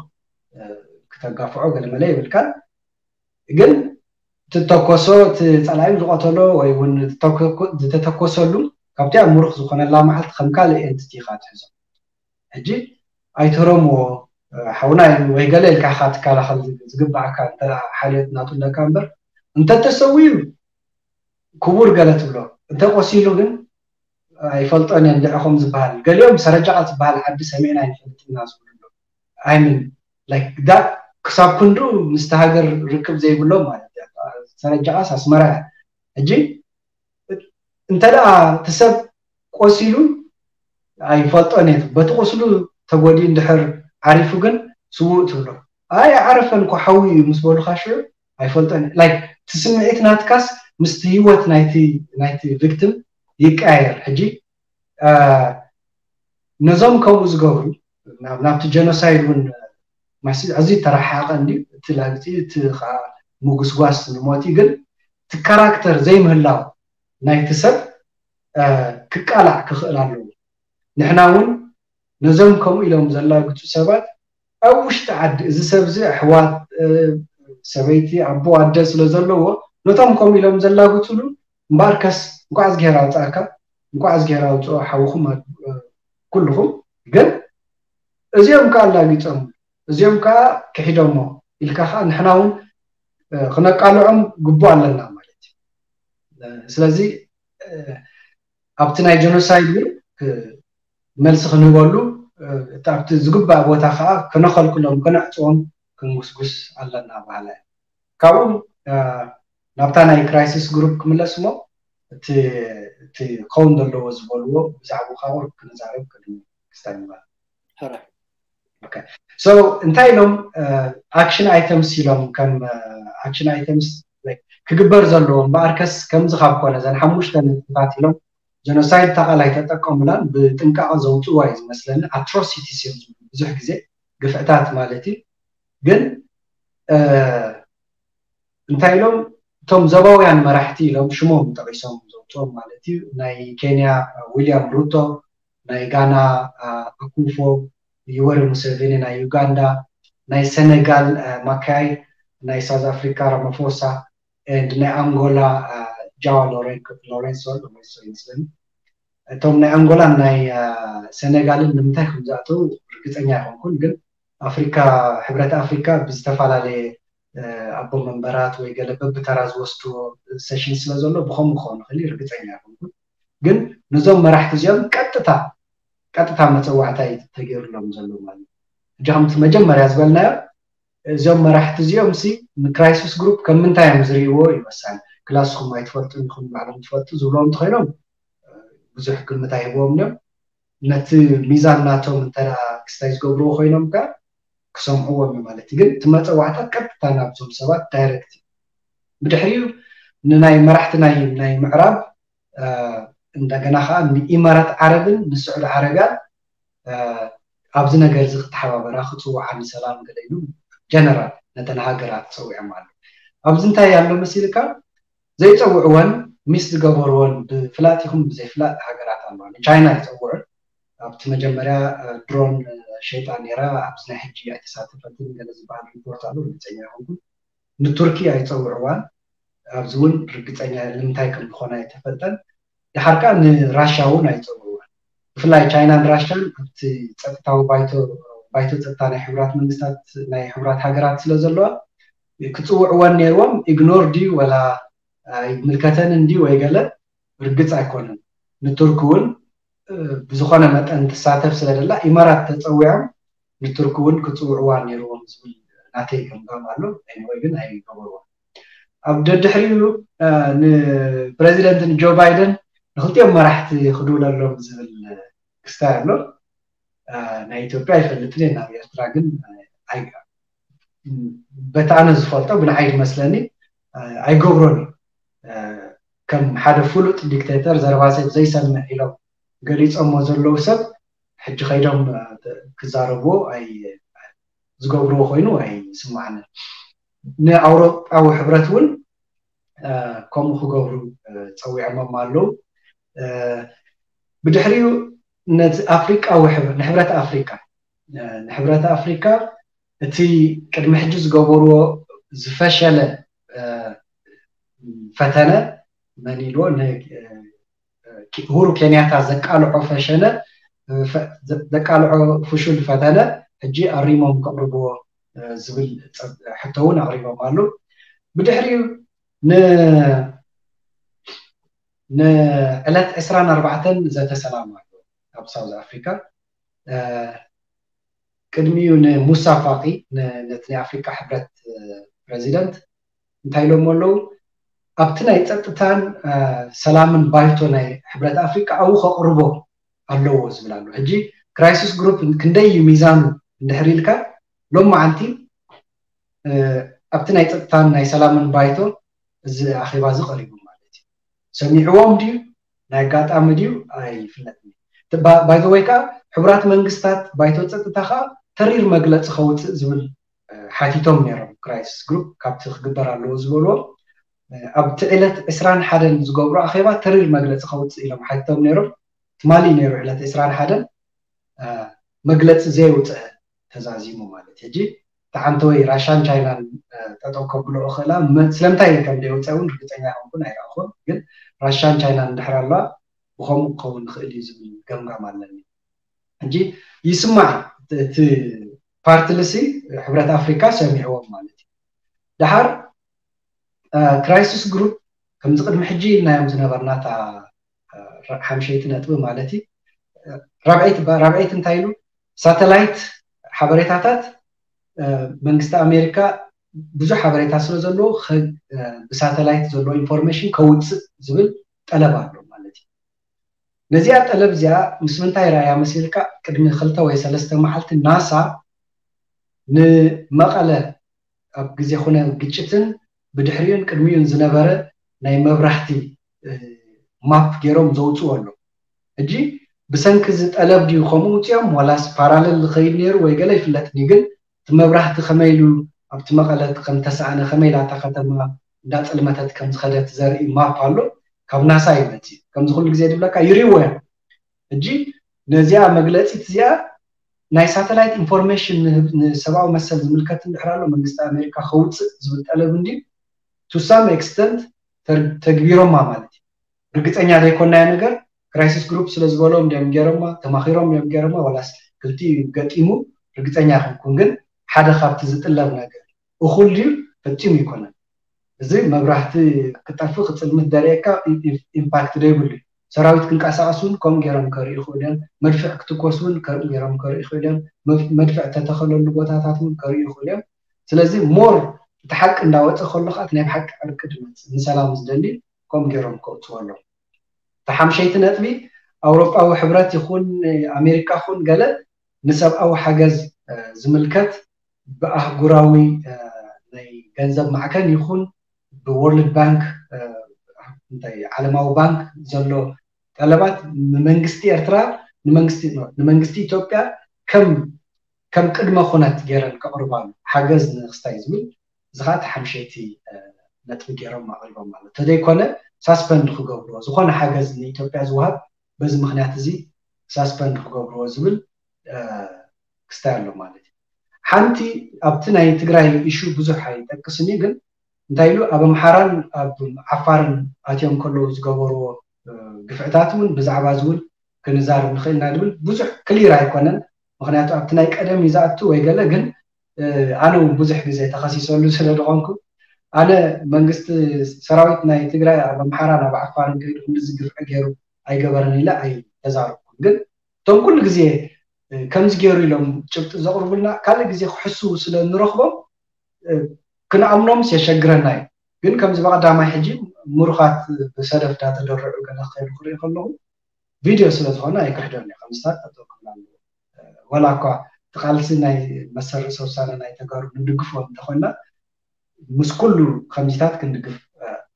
ክተጋፍዖ ገለመለ የብልካን። ግን ትተኮሶ እቲ ፀላኢ ዝቐተሎ ወይ እውን ዝተተኮሰሉ ካብቲ ኣብ ምሩኽ ዝኾነላ መዓልቲ ከም ካልእ ኤንቲቲ ኢኻ ትሕዞ። ሕጂ ኣይትረምዎ ሓውና ወይ ገለ ኢልካ ኢኻ ትከላኸል ዝግባኣካ እንተ ሓልዮት ናቱ ኣለካ እምበር እንተተሰዊኡ ክቡር ገለ ትብሎ እንተቆሲሉ ግን ኣይፈልጦን እየ እንድዒ ከም ዝበሃል ገሊኦም ሰረጃቓ ዝበሃል ዓዲ ሰሚዕና ኣይንፈልጥና ዝብሉ ኣለዉ ኣይምን ክሳብ ክንዱ ምስቲ ሃገር ርክብ ዘይብሎም ማለት እዩ ሰረጃቓስ ኣስመራ እያ ሕጂ እንተ ደኣ እቲ ሰብ ቆሲሉ ኣይፈልጦን እየ በቲ ቁስሉ ተጎዲኡ እንድሕር ዓሪፉ ግን ስዉእ ትብሎ ኣይ ዓረፈን እኮ ሓዊ እዩ ምስ በሉካ ሽዑ ኣይፈልጦን like እቲ ስምዒት ናትካስ ምስቲ ህይወት ናይቲ ናይቲ victim ይቀያየር ሕጂ ነዞም ከምኡ ዝገብሩ ናብቲ genocide እውን ማሲ ኣዝዩ ተረሓቀ እንድዩ እቲ ላግፂ እቲ ከዓ ምጉስጓስ ንሞት እዩ ግን እቲ ካራክተር ዘይምህላው ናይቲ ሰብ ክቃላዕ ክኽእል ኣለዎ ንሕና እውን ነዞም ከምኡ ኢሎም ዘላግፁ ሰባት ኣብ ውሽጢ ዓዲ እዚ ሰብ እዚ ኣሕዋት ሰበይቲ ኣቦ ኣደ ስለ ዘለዎ ነቶም ከምኡ ኢሎም ዘላግፅሉ እምበኣርከስ እንኳዕ እዝግሄር ኣውፅኣካ እንኳዕ እዝግሄር ኣውፅኦ ሓውኹም ኩልኹም ግን እዚኦም ከዓ ኣላጊፆም እዚኦም ከዓ ክሒዶሞ ኢልካ ከዓ ንሕና እውን ክነቃልዖም ግቡእ ኣለና ማለት እዩ ስለዚ ኣብቲ ናይ genocide እውን መልሲ ክንህበሉ ኣብቲ ዝግባእ ቦታ ከዓ ክነኸልክሎም ክነዕፅዎም ክንጉስጉስ ኣለና በሃላ እያ ካብኡ ናብታ ናይ crisis group ክምለስ እሞ እቲ ክኸውን ዘለዎ ዝበልዎ ብዛዕባ ቁሩብ ክንዛረብ ቅድሚ ክስተንባ ሕራይ so እንታይ ኢሎም action items ኢሎም ከም action items ክግበር ዘለዎ እምበኣርከስ ከምዚ ካብ ኮነ ዘን ሓሙሽተ ነጥብታት ኢሎም genocide ተቃላይ ተጠቀሙላን ብጥንቃቐ ዘውፅዋ እዩ ዝመስለኒ። Atrocities እዮም ብዙሕ ግዜ ግፍዕታት ማለት እዩ። ግን እንታይ ኢሎም እቶም ዞባውያን መራሕቲ ኢሎም ሽሞም ጠቂሶም ዘውፅኦም ማለት እዩ። ናይ ኬንያ ዊልያም ሩቶ፣ ናይ ጋና ኣኩፎ፣ ዩወሪ ሙሴቬኒ ናይ ዩጋንዳ፣ ናይ ሰነጋል ማካይ፣ ናይ ሳውዝ ኣፍሪካ ራማፎሳ፣ and ናይ ኣንጎላ ጃዋ ሎሬንሶ ይመስለኒ። እቶም ናይ ኣንጎላን ናይ ሰነጋልን ንምንታይ ከም ዝኣተው ርግፀኛ ኣይኮንኩን። ግን ኣፍሪካ፣ ሕብረት ኣፍሪካ ብዝተፈላለየ ኣቦ መንበራት ወይ ገለ በብተራ ዝወስድዎ ሴሽን ስለ ዘሎ ብከምኡ ክኸውን ይኽእል እዩ፣ ርግፀኛ ኣይኮንኩን። ግን ነዞም መራሕቲ እዚኦም ቀጥታ ቀጥታ መፀዋዕታ እዩ ተገይሩሎም ዘሎ ማለት እዩ። ሕጂ ከምቲ መጀመርያ ዝበልናዮ እዞም መራሕቲ እዚኦም ሲ ንክራይሲስ ግሩፕ ከም ምንታይ እዮም ዝርእይዎ እዩ ወሳኒ። ክላስኩም ኣይትፈልጡን ኢኹም ባዕሎም ትፈልጡ ዝብሎም እንተኮይኖም ብዙሕ ግምት ኣይህብዎም እዮም። ነቲ ሚዛን ናቶም እንተ ክስታይ ዝገብርዎ ኮይኖም ከ ክሰምዕዎም እዩ ማለት እዩ። ግን እቲ መፀዋዕታ ቀጥታ ናብዞም ሰባት ዳይሬክት እዩ። ብድሕሪኡ ንናይ መራሕቲ ናይ ናይ ምዕራብ እንደገና ከዓ ንኢማራት ዓረብን ንስዑዲ ዓረብያን ኣብዚ ነገር እዚ ክተሓባበራ ክፅውዓ ንሰላም ገለ ኢሉ ጀነራል ነተን ሃገራት ፀዊዖም ኣሎ። ኣብዚ እንታይ ኣሎ መሲልካ ዘይፀውዕወን ሚስ ዝገበርዎን ብፍላጥ ይኹን ብዘይፍላጥ ሃገራት ኣለዋ። ንቻይና ይፀውዑ ኣብቲ መጀመርያ ድሮን ሸይጣ ነይራ ኣብዚ ናይ ሕጂ ኣይተሳተፈትን ገለ ዝበሃል ሪፖርት ኣሎ ርግፀኛ ይኹንኩን ንቱርኪ ኣይፀውዕዋን። ኣብዚ እውን ርግፀኛ ንምንታይ ከም ዝኾነ ኣይተፈልጠን። ድሓር ከዓ ንራሻ እውን ኣይፀውዕዋን። ብፍላይ ቻይናን ራሻን ኣብቲ ፀጥታዊ ባይቶ ፀጥታ ናይ ሕቡራት መንግስታት ናይ ሕቡራት ሃገራት ስለ ዘለዋ ክፅውዕወን ነይርዎም። ኢግኖር ድዩ ወላ ኣይምልከተንን ድዩ ወይ ገለ ርግፅ ኣይኮነን። ንቱርክ እውን ብዝኾነ መጠን ትሳተፍ ስለ ደላ ኢማራት ተፀዊዖም ንቱርክ እውን ክፅውዕዋ ነይርዎም ዝብል ናተይ ገምጋም ኣሎ። ወይ ግን ኣይገበርዎ። ኣብ ደድሕሪኡ ንፕረዚደንት ንጆ ባይደን ንክልቲኦም መራሕቲ ክድውለሎም ዝብል ክስታይ ኣሎ። ናይ ኢትዮጵያ ኣይፈልጥን እየ፣ ናብ ኤርትራ ግን በቲ ኣነ ዝፈልጦ ብንዓይ ዝመስለኒ ኣይገብሮን እዩ። ከም ሓደ ፍሉጥ ዲክቴተር ዘረባ ሰብ ዘይሰምዕ ኢሎም ገሊፆሞ ዘለዉ ሰብ ሕጂ ከይዶም ክዛረብዎ ዝገብርዎ ኮይኑ ኣይስማዕንን። ንኣውሮጳዊ ሕብረት እውን ከምኡ ክገብሩ ፀዊዖሞም ኣለዉ። ብድሕሪኡ ነቲ ኣፍሪቃዊ ንሕብረት ኣፍሪቃ ንሕብረት ኣፍሪካ እቲ ቅድሚ ሕጂ ዝገበርዎ ዝፈሸለ ፈተነ መን ኢልዎ ሁሩ ኬንያታ ዘቃልዖ ፈሸነ ዘቃልዖ ፍሹል ፈተነ ሕጂ ኣሪሞም ከቕርብዎ ዝብል ሕቶ እውን ኣቕሪቦም ኣሉ። ብድሕሪኡ ንዕለት ዕስራን ኣርባዕተን ዘተሰላም ኣሎ ኣብ ሳውዝ ኣፍሪካ። ቅድሚኡ ንሙሳ ፋቂ ነቲ ናይ ኣፍሪካ ሕብረት ፕረዚደንት እንታይ ኢሎም ኣለዉ? ኣብቲ ናይ ፀጥታን ሰላምን ባይቶ ናይ ሕብረት ኣፍሪካ ኣብኡ ከቕርቦ ኣለዎ ዝብል ኣሎ። ሕጂ ክራይሲስ ግሩፕ ክንደይ እዩ ሚዛኑ እንድሕር ኢልካ ሎም መዓልቲ ኣብቲ ናይ ፀጥታን ናይ ሰላምን ባይቶ እዚ ኣኼባ እዚ ቀሪቡ ማለት እዩ። ሰሚዕዎም ድዩ ናይ ኣጋጣሚ ድዩ ኣይፍለጥን። ባይዘወይ ከዓ ሕቡራት መንግስታት ባይቶ ፀጥታ ከዓ ተሪር መግለፂ ከውፅእ ዝብል ሓቲቶም ነይሮም። ክራይሲስ ግሩፕ ካብቲ ክግበር ኣለዎ ዝበልዎ ኣብቲ ዕለት ዕስራን ሓደን ዝገብሩ ኣኼባ ተሪር መግለፂ ከውፅእ ኢሎም ሓቲቶም ነይሮም። ትማሊ ነይሩ ዕለት ዕስራን ሓደን መግለፂ ዘየውፅአ ተዛዚሙ ማለት ሕጂ ተዓንተወይ ራሻን ቻይናን ጠጠው ከብሎ እኽእላ ስለምንታይ ከም ደይወፀ እውን ርግፀኛ ይኮንኩን ኣይረእኹን። ግን ራሻን ቻይናን እንድሕር ኣለዋ ብከምኡ ክኸውን ንኽእል እዩ ዝብል ገምጋም ኣለኒ። ሕጂ ይስማዕ እቲ ፓርትልሲ ሕብረት ኣፍሪካ ሰሚዕዎም ማለት እዩ። ድሓር ክራይሲስ ግሩፕ ከምዚ ቅድሚ ሕጂ ኢልናዮም ዝነበርና እታ ሓምሸይቲ ነጥቢ ማለት እዩ። ራብዐይቲ እንታይ ኢሉ ሳተላይት ሓበሬታታት መንግስቲ ኣሜሪካ ብዙሕ ሓበሬታ ስለ ዘለዎ ብሳተላይት ዘሎ ኢንፎርሜሽን ከውፅእ ዝብል ጠለብ ኣሎ ማለት እዩ። ነዚኣ ጠለብ እዚኣ ምስ ምንታይ ረኣያ መሲልካ ቅድሚ ክልተ ወይ ሰለስተ መዓልቲ ናሳ ንመቐለ ኣብ ግዜ ኩነ ግጭትን ብድሕሪኡን ቅድሚኡን ዝነበረ ናይ መብራህቲ ማፕ ገይሮም ዘውፅኡ ኣሎ። ሕጂ ብሰንኪ እዚ ጠለብ ድዩ ከምኡ ውፅኦም ዋላስ ፓራለል ዝኸይድ ነይሩ ወይ ገለ ይፍለጥኒ፣ ግን እቲ መብራህቲ ከመይ ኢሉ ኣብቲ መቐለ ከም ተሰኣነ፣ ከመይ ኢላ እታ ከተማ እንዳፀልመተት ከም ዝኸደት ዘርኢ ማፕ ኣሎ። ካብ ናሳ ይመፅእ። ከምዚ ኩሉ ግዜ ድብለካ ይርእዎ እዮም። ሕጂ ነዚኣ መግለፂት እዚኣ ናይ ሳተላይት ኢንፎርሜሽን ንሰብኣዊ መሰል ዝምልከት እንድሕር ኣሎ መንግስቲ ኣሜሪካ ከውፅእ ዝብል ጠለብ እንዲ to some extent ተግቢሮማ ማለት እዩ። ርግፀኛ ዘይኮናዮ ነገር ክራይሲስ ግሩፕ ስለ ዝበሎም ድዮም ገይሮማ፣ ተማኺሮም እዮም ገይሮማ፣ ዋላስ ክልቲኡ ገጢሙ ርግፀኛ ኣይኮንኩን። ግን ሓደ ካብቲ ዝጥለብ ነገር እኹል ድዩ? ፈጺሙ ኣይኮነን። እዚ መብራህቲ ክጠፍእ ክፅልምት ደርእየካ ኢምፓክት ዘይብሉ እዩ። ሰራዊት ክንቀሳቀስ እውን ከምኡ ገይሮም ከርኢ ይኽእሉ እዮም። መድፍዕ ክትኮስ እውን ከምኡ ገይሮም ከርኢ ይኽእሉ እዮም። መድፍዕ ተተኸለሉ ቦታታት እውን ከርኢ ይኽእሉ እዮም። ስለዚ ሞር እቲ ሓቂ እንዳወፀ ከሎ ከዓ ናይ ብሓቂ ዕርቂ ድመፅእ ንሰላም ዝደሊ ከምኡ ገይሮም ከውፅዎ ኣለዎም። እቲ ሓምሸይቲ ነጥቢ ኣውሮጳዊ ሕብረት ይኹን ኣሜሪካ ይኹን ገለ ንሰብኣዊ ሓገዝ ዝምልከት ብኣህጉራዊ ናይ ገንዘብ ማዕከን ይኹን ብወርልድ ባንክ እንታይ ዓለማዊ ባንክ ዘሎ ጠለባት ንመንግስቲ ኤርትራ ንመንግስቲ ኢትዮጵያ ከም ከም ቅድመ ኩነት ገይረን ከቕርባሉ ሓገዝ ንክስታይ ዝብል እዚ ከዓ ሓምሸይቲ ነጥቢ ገይሮም ኣቕሪቦም ማለት ተዘይኮነ ሳስፐንድ ክገብርዎ ዝኾነ ሓገዝ ንኢትዮጵያ ዝወሃብ በዚ ምክንያት እዚ ሳስፐንድ ክገብርዎ ዝብል ክስታይ ኣሎ ማለት እዩ። ሓንቲ ኣብቲ ናይ ትግራይ ኢሹ ብዙሕ ኣይጠቅስን እዩ፣ ግን እንታይ ኢሉ ኣብ ኣምሓራን ኣብ ዓፋርን ኣትዮም ከለዉ ዝገበርዎ ግፍዕታት እውን ብዛዕባ እዚ እውን ክንዛረብ ንኽእል ኢና ድብል ብዙሕ ክሊር ኣይኮነን። ምክንያቱ ኣብቲ ናይ ቀደም እዩ ዝኣቱ ወይ ገለ ግን ኣነ እውን ብዙሕ ግዜ ተኸሲሰሉ ስለ ዝኾንኩ ኣነ መንግስቲ ሰራዊት ናይ ትግራይ ኣብ ኣምሓራ ናብ ዓፋርን ከይዱ ክንድዚ ግፍዒ ገይሩ ኣይገበረን ኢለ ኣይተዛረብኩን። ግን እቶም ኩሉ ግዜ ከምዚ ገይሩ ኢሎም ጭብጢ ዘቕርቡልና ካልእ ግዜ ክሕስዉ ስለ ንረኽቦም ክንኣምኖምስ የሸግረና እዩ። ግን ከምዚ ብቐዳማይ ሕጂ ምሩኻት ብሰደፍ እንዳተደርዑ ገለ ክኸዱ ክርኢ ከለኹ ቪድዮ ስለ ዝኾነ ኣይክሕዶን እየ። ከምስታት ጠጠው ክብል ኣለዎ። ወላ እኳ እቲ ቃልሲ ናይ መሰል ርእሰ ውሳነ ናይ ተጋሩ ንድግፎ እንተኾንና ምስ ኩሉ ከምዚታት ክንድግፍ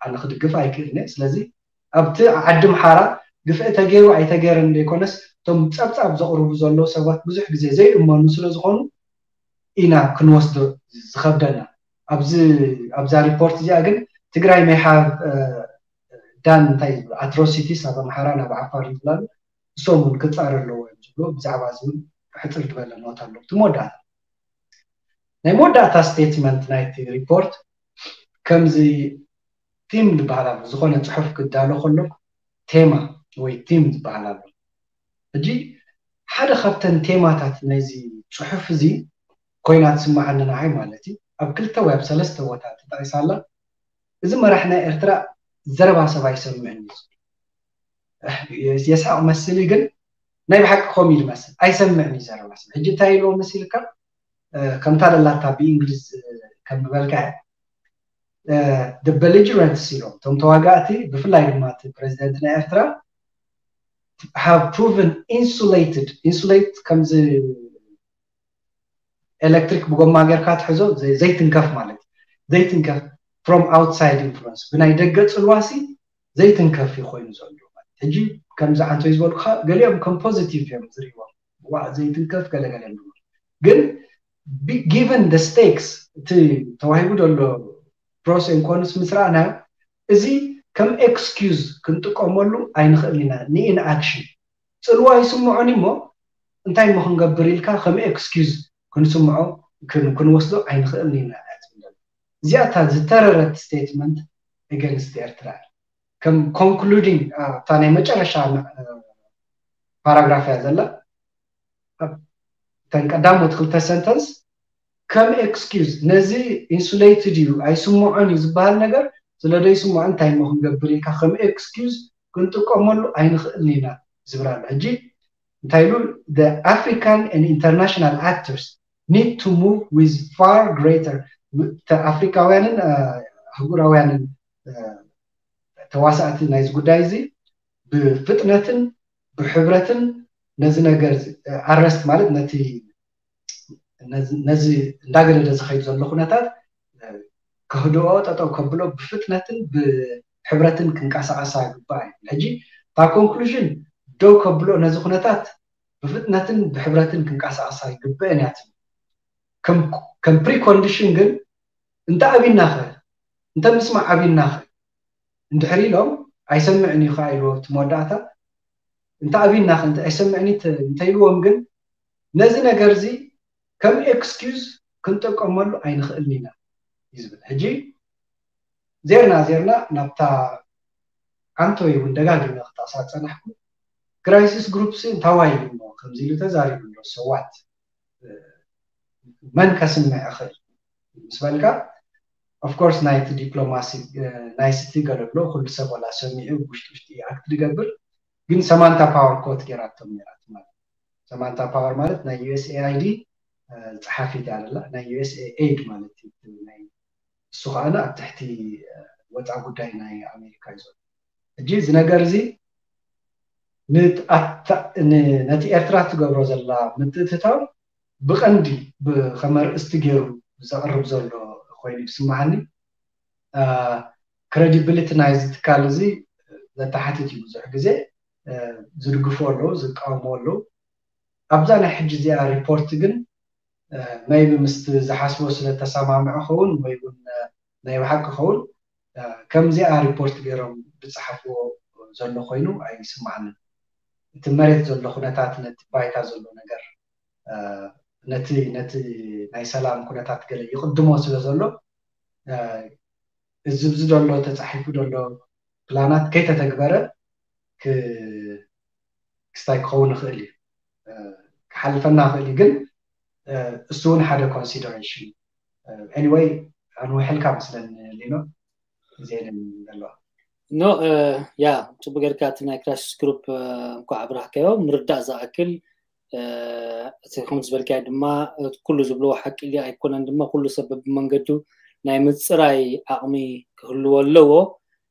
ኣነ ክድግፍ ኣይክእልን እየ። ስለዚ ኣብቲ ዓዲ ምሓራ ግፍዒ ተገይሩ ኣይተገይረን ዘይኮነስ እቶም ፀብፃብ ዘቕርቡ ዘለዉ ሰባት ብዙሕ ግዜ ዘይእመኑ ስለ ዝኾኑ ኢና ክንወስዶ ዝኸብደና። ኣብዚ ኣብዛ ሪፖርት እዚኣ ግን ትግራይ may have done እንታይ ዝብሉ atrocities ኣብ ኣምሓራ ናብ ዓፋር ይብላሉ እሶም እውን ክፃረ ኣለዎ እዮም ዝብሉ ብዛዕባ እዚ እውን ሕፅር ዝበለ ኖት ኣሎ። እቲ መወዳእታ ናይ መወዳእታ ስቴትመንት ናይቲ ሪፖርት ከምዚ ቲም ዝበሃል ኣሎ። ዝኾነ ፅሑፍ ክዳሎ ከሎ ቴማ ወይ ቲም ዝበሃል ኣሎ። ሕጂ ሓደ ካብተን ቴማታት ናይዚ ፅሑፍ እዚ ኮይና ትስምዓኒ ንዓይ ማለት እዩ ኣብ ክልተ ወይ ኣብ ሰለስተ ቦታ ተጠቂሳ ኣላ። እዚ መራሕ ናይ ኤርትራ ዘረባ ሰብ ኣይሰምዕን እዩ። የስሕቕ መስል ግን ናይ ብሓቂ ከምኡ እዩ ዝመስል ኣይሰምዕን እዩ ዘረባ ሰብ። ሕጂ እንታይ ኢልዎ መሲልካ ከምታ ደላታ ብእንግሊዝ ከምበልካ the belligerents ኢሎም እቶም ተዋጋእቲ ብፍላይ ድማ እቲ ፕሬዚደንት ናይ ኤርትራ have proven insulated insulate ከምዚ ኤሌክትሪክ ብጎማ ጌርካ ትሕዞ ዘይትንከፍ ማለት እዩ። ዘይትንከፍ from outside influence ብናይ ደገ ፅልዋሲ ዘይትንከፍ እዩ ኮይኑ ዘሎ። ሕጂ ከምዚ ዓንቶይ ዝበልኩካ ገሊኦም ከም ፖዚቲቭ እዮም ዝርእይዎም። ዋ ዘይትንከፍ ገለገለ እዮም ግን given the stakes እቲ ተዋሂቡ ዘሎ pros and cons ምስ ረኣናዮ እዚ ከም ኤክስኪዩዝ ክንጥቀመሉ ኣይንኽእል ኢና ንኢንኣክሽን ፅልዋ ይስምዖን እሞ እንታይ እሞ ክንገብር ኢልካ ከም ኤክስኪዩዝ ክንስምዖ ክንወስዶ ኣይንኽእልን ኢና እያ ትብል። እዚኣ እታ ዝተረረት ስቴትመንት against ኤርትራ እያ። ከም ኮንክሉዲንግ እታ ናይ መጨረሻ ፓራግራፍ እያ ዘላ። እተን ቀዳሞት ክልተ ሰንተንስ ከም ኤክስኪዩዝ ነዚ ኢንሱሌትድ እዩ ኣይስምዖን እዩ ዝበሃል ነገር ስለ ዘይስምዖ እንታይ እሞ ክንገብር ኢልካ ከም ኤክስኪዩዝ ክንጥቀመሉ ኣይንኽእልን ኢና ዝብል ኣሎ። ሕጂ እንታይ ኢሉ the African and international actors need to move with far greater ኣፍሪካውያንን ኣህጉራውያንን ተዋሳእቲ ናይዚ ጉዳይ እዚ ብፍጥነትን ብሕብረትን ነዚ ነገር ኣረስት ማለት ነቲ ነዚ እንዳገደደ ዝኸይድ ዘሎ ኩነታት ክህድኦ፣ ጠጠው ከብሎ፣ ብፍጥነትን ብሕብረትን ክንቀሳቀሳ ግባእ እዩ። ሕጂ እታ ኮንክሉዥን ደው ከብሎ፣ ነዚ ኩነታት ብፍጥነትን ብሕብረትን ክንቀሳቀሳ ይግበአን እያ ትብል። ከም ፕሪኮንዲሽን ግን እንተ ኣቢናኸ፣ እንተ ምስማዕ ኣቢናኸ እንድሕር ኢሎም፣ ኣይሰምዕን እዩ ከዓ ኢልዎ እቲ መወዳእታ። እንተ ኣቢናኸ እንተ ኣይሰምዕን እንተ ኢልዎም ግን፣ ነዚ ነገር እዚ ከም ኤክስኪዩዝ ክንጥቀመሉ ኣይንኽእልን ኢና እዩ ዝብል። ሕጂ ዜርና ዜርና ናብታ ዓንቶይ እውን ደጋጊመ ክጠቕሳ ዝፀናሕኩ ክራይሲስ ግሩፕ ሲ እንታዋይ እዩ እሞ ከምዚ ኢሉ ተዛሪቡ ኣሎ። ሰዋት መን ከስምዕ እኽእል ምስ በልካ፣ ኦፍኮርስ ናይቲ ዲፕሎማሲ ናይ ስቲ ገለሎ ኩሉ ሰብ ዋላ ሰሚዑ ውሽጢ ውሽጢ ኣክት ዝገብር፣ ግን ሰማንታ ፓወር ኮት ገይራቶም ነይራ ማለት። ሰማንታ ፓወር ማለት ናይ ዩ ኤስ ኤ ኣይ ዲ ጸሓፊት እያ ዘላ፣ ናይ ዩ ኤስ ኤ ኤድ ማለት እዩ። ናይ እሱ ከዓነ ኣብ ትሕቲ ወፃ ጉዳይ ናይ ኣሜሪካ እዩ ዘሎ። ሕጂ እዚ ነገር እዚ ነቲ ኤርትራ ትገብሮ ዘላ ምትእትታው ብቐንዲ ከም ኣርእስቲ ገይሩ ዘቕርብ ዘሎ ኮይኑ ይስምዓኒ። ክረዲብሊቲ ናይዚ ትካል እዚ ዘተሓትት እዩ። ብዙሕ ግዜ ዝድግፉ ኣለዉ፣ ዝቃወሙ ኣለዉ። ኣብዛ ናይ ሕጂ እዚኣ ሪፖርት ግን መይቢ ምስቲ ዝሓስቦ ስለ ተሰማምዐ ኸውን ወይ እውን ናይ ብሓቂ ኸውን ከምዚኣ ሪፖርት ገይሮም ዝፀሓፍዎ ዘሎ ኮይኑ ኣይስምዓንን። እቲ መሬት ዘሎ ኩነታት፣ ነቲ ባይታ ዘሎ ነገር፣ ነቲ ነቲ ናይ ሰላም ኩነታት ገለ ይቕድሞ ስለ ዘሎ እዚ ብዚ ዘሎ ተፃሒፉ ዘሎ ፕላናት ከይተተግበረ ክስታይ ክኸውን ይኽእል እዩ፣ ክሓልፈና ይኽእል እዩ። ግን እሱ እውን ሓደ ኮንሲደሬሽን። ኤኒወይ ኣንውሕልካ መስለኒ ሊኖ፣ ግዜ ዘለዋ ኖ ያ ጽቡቅ ጌርካ እቲ ናይ ክራይሲስ ግሩፕ እንኳዕ ኣብራህካዮ ምርዳእ ዝኣክል እቲ ከምቲ ዝበልካዮ ድማ ኩሉ ዝብልዎ ሓቂ ድዩ ኣይኮነን ድማ ኩሉ ሰብ በብመንገዱ ናይ ምፅራይ ዓቕሚ ክህልዎ ኣለዎ።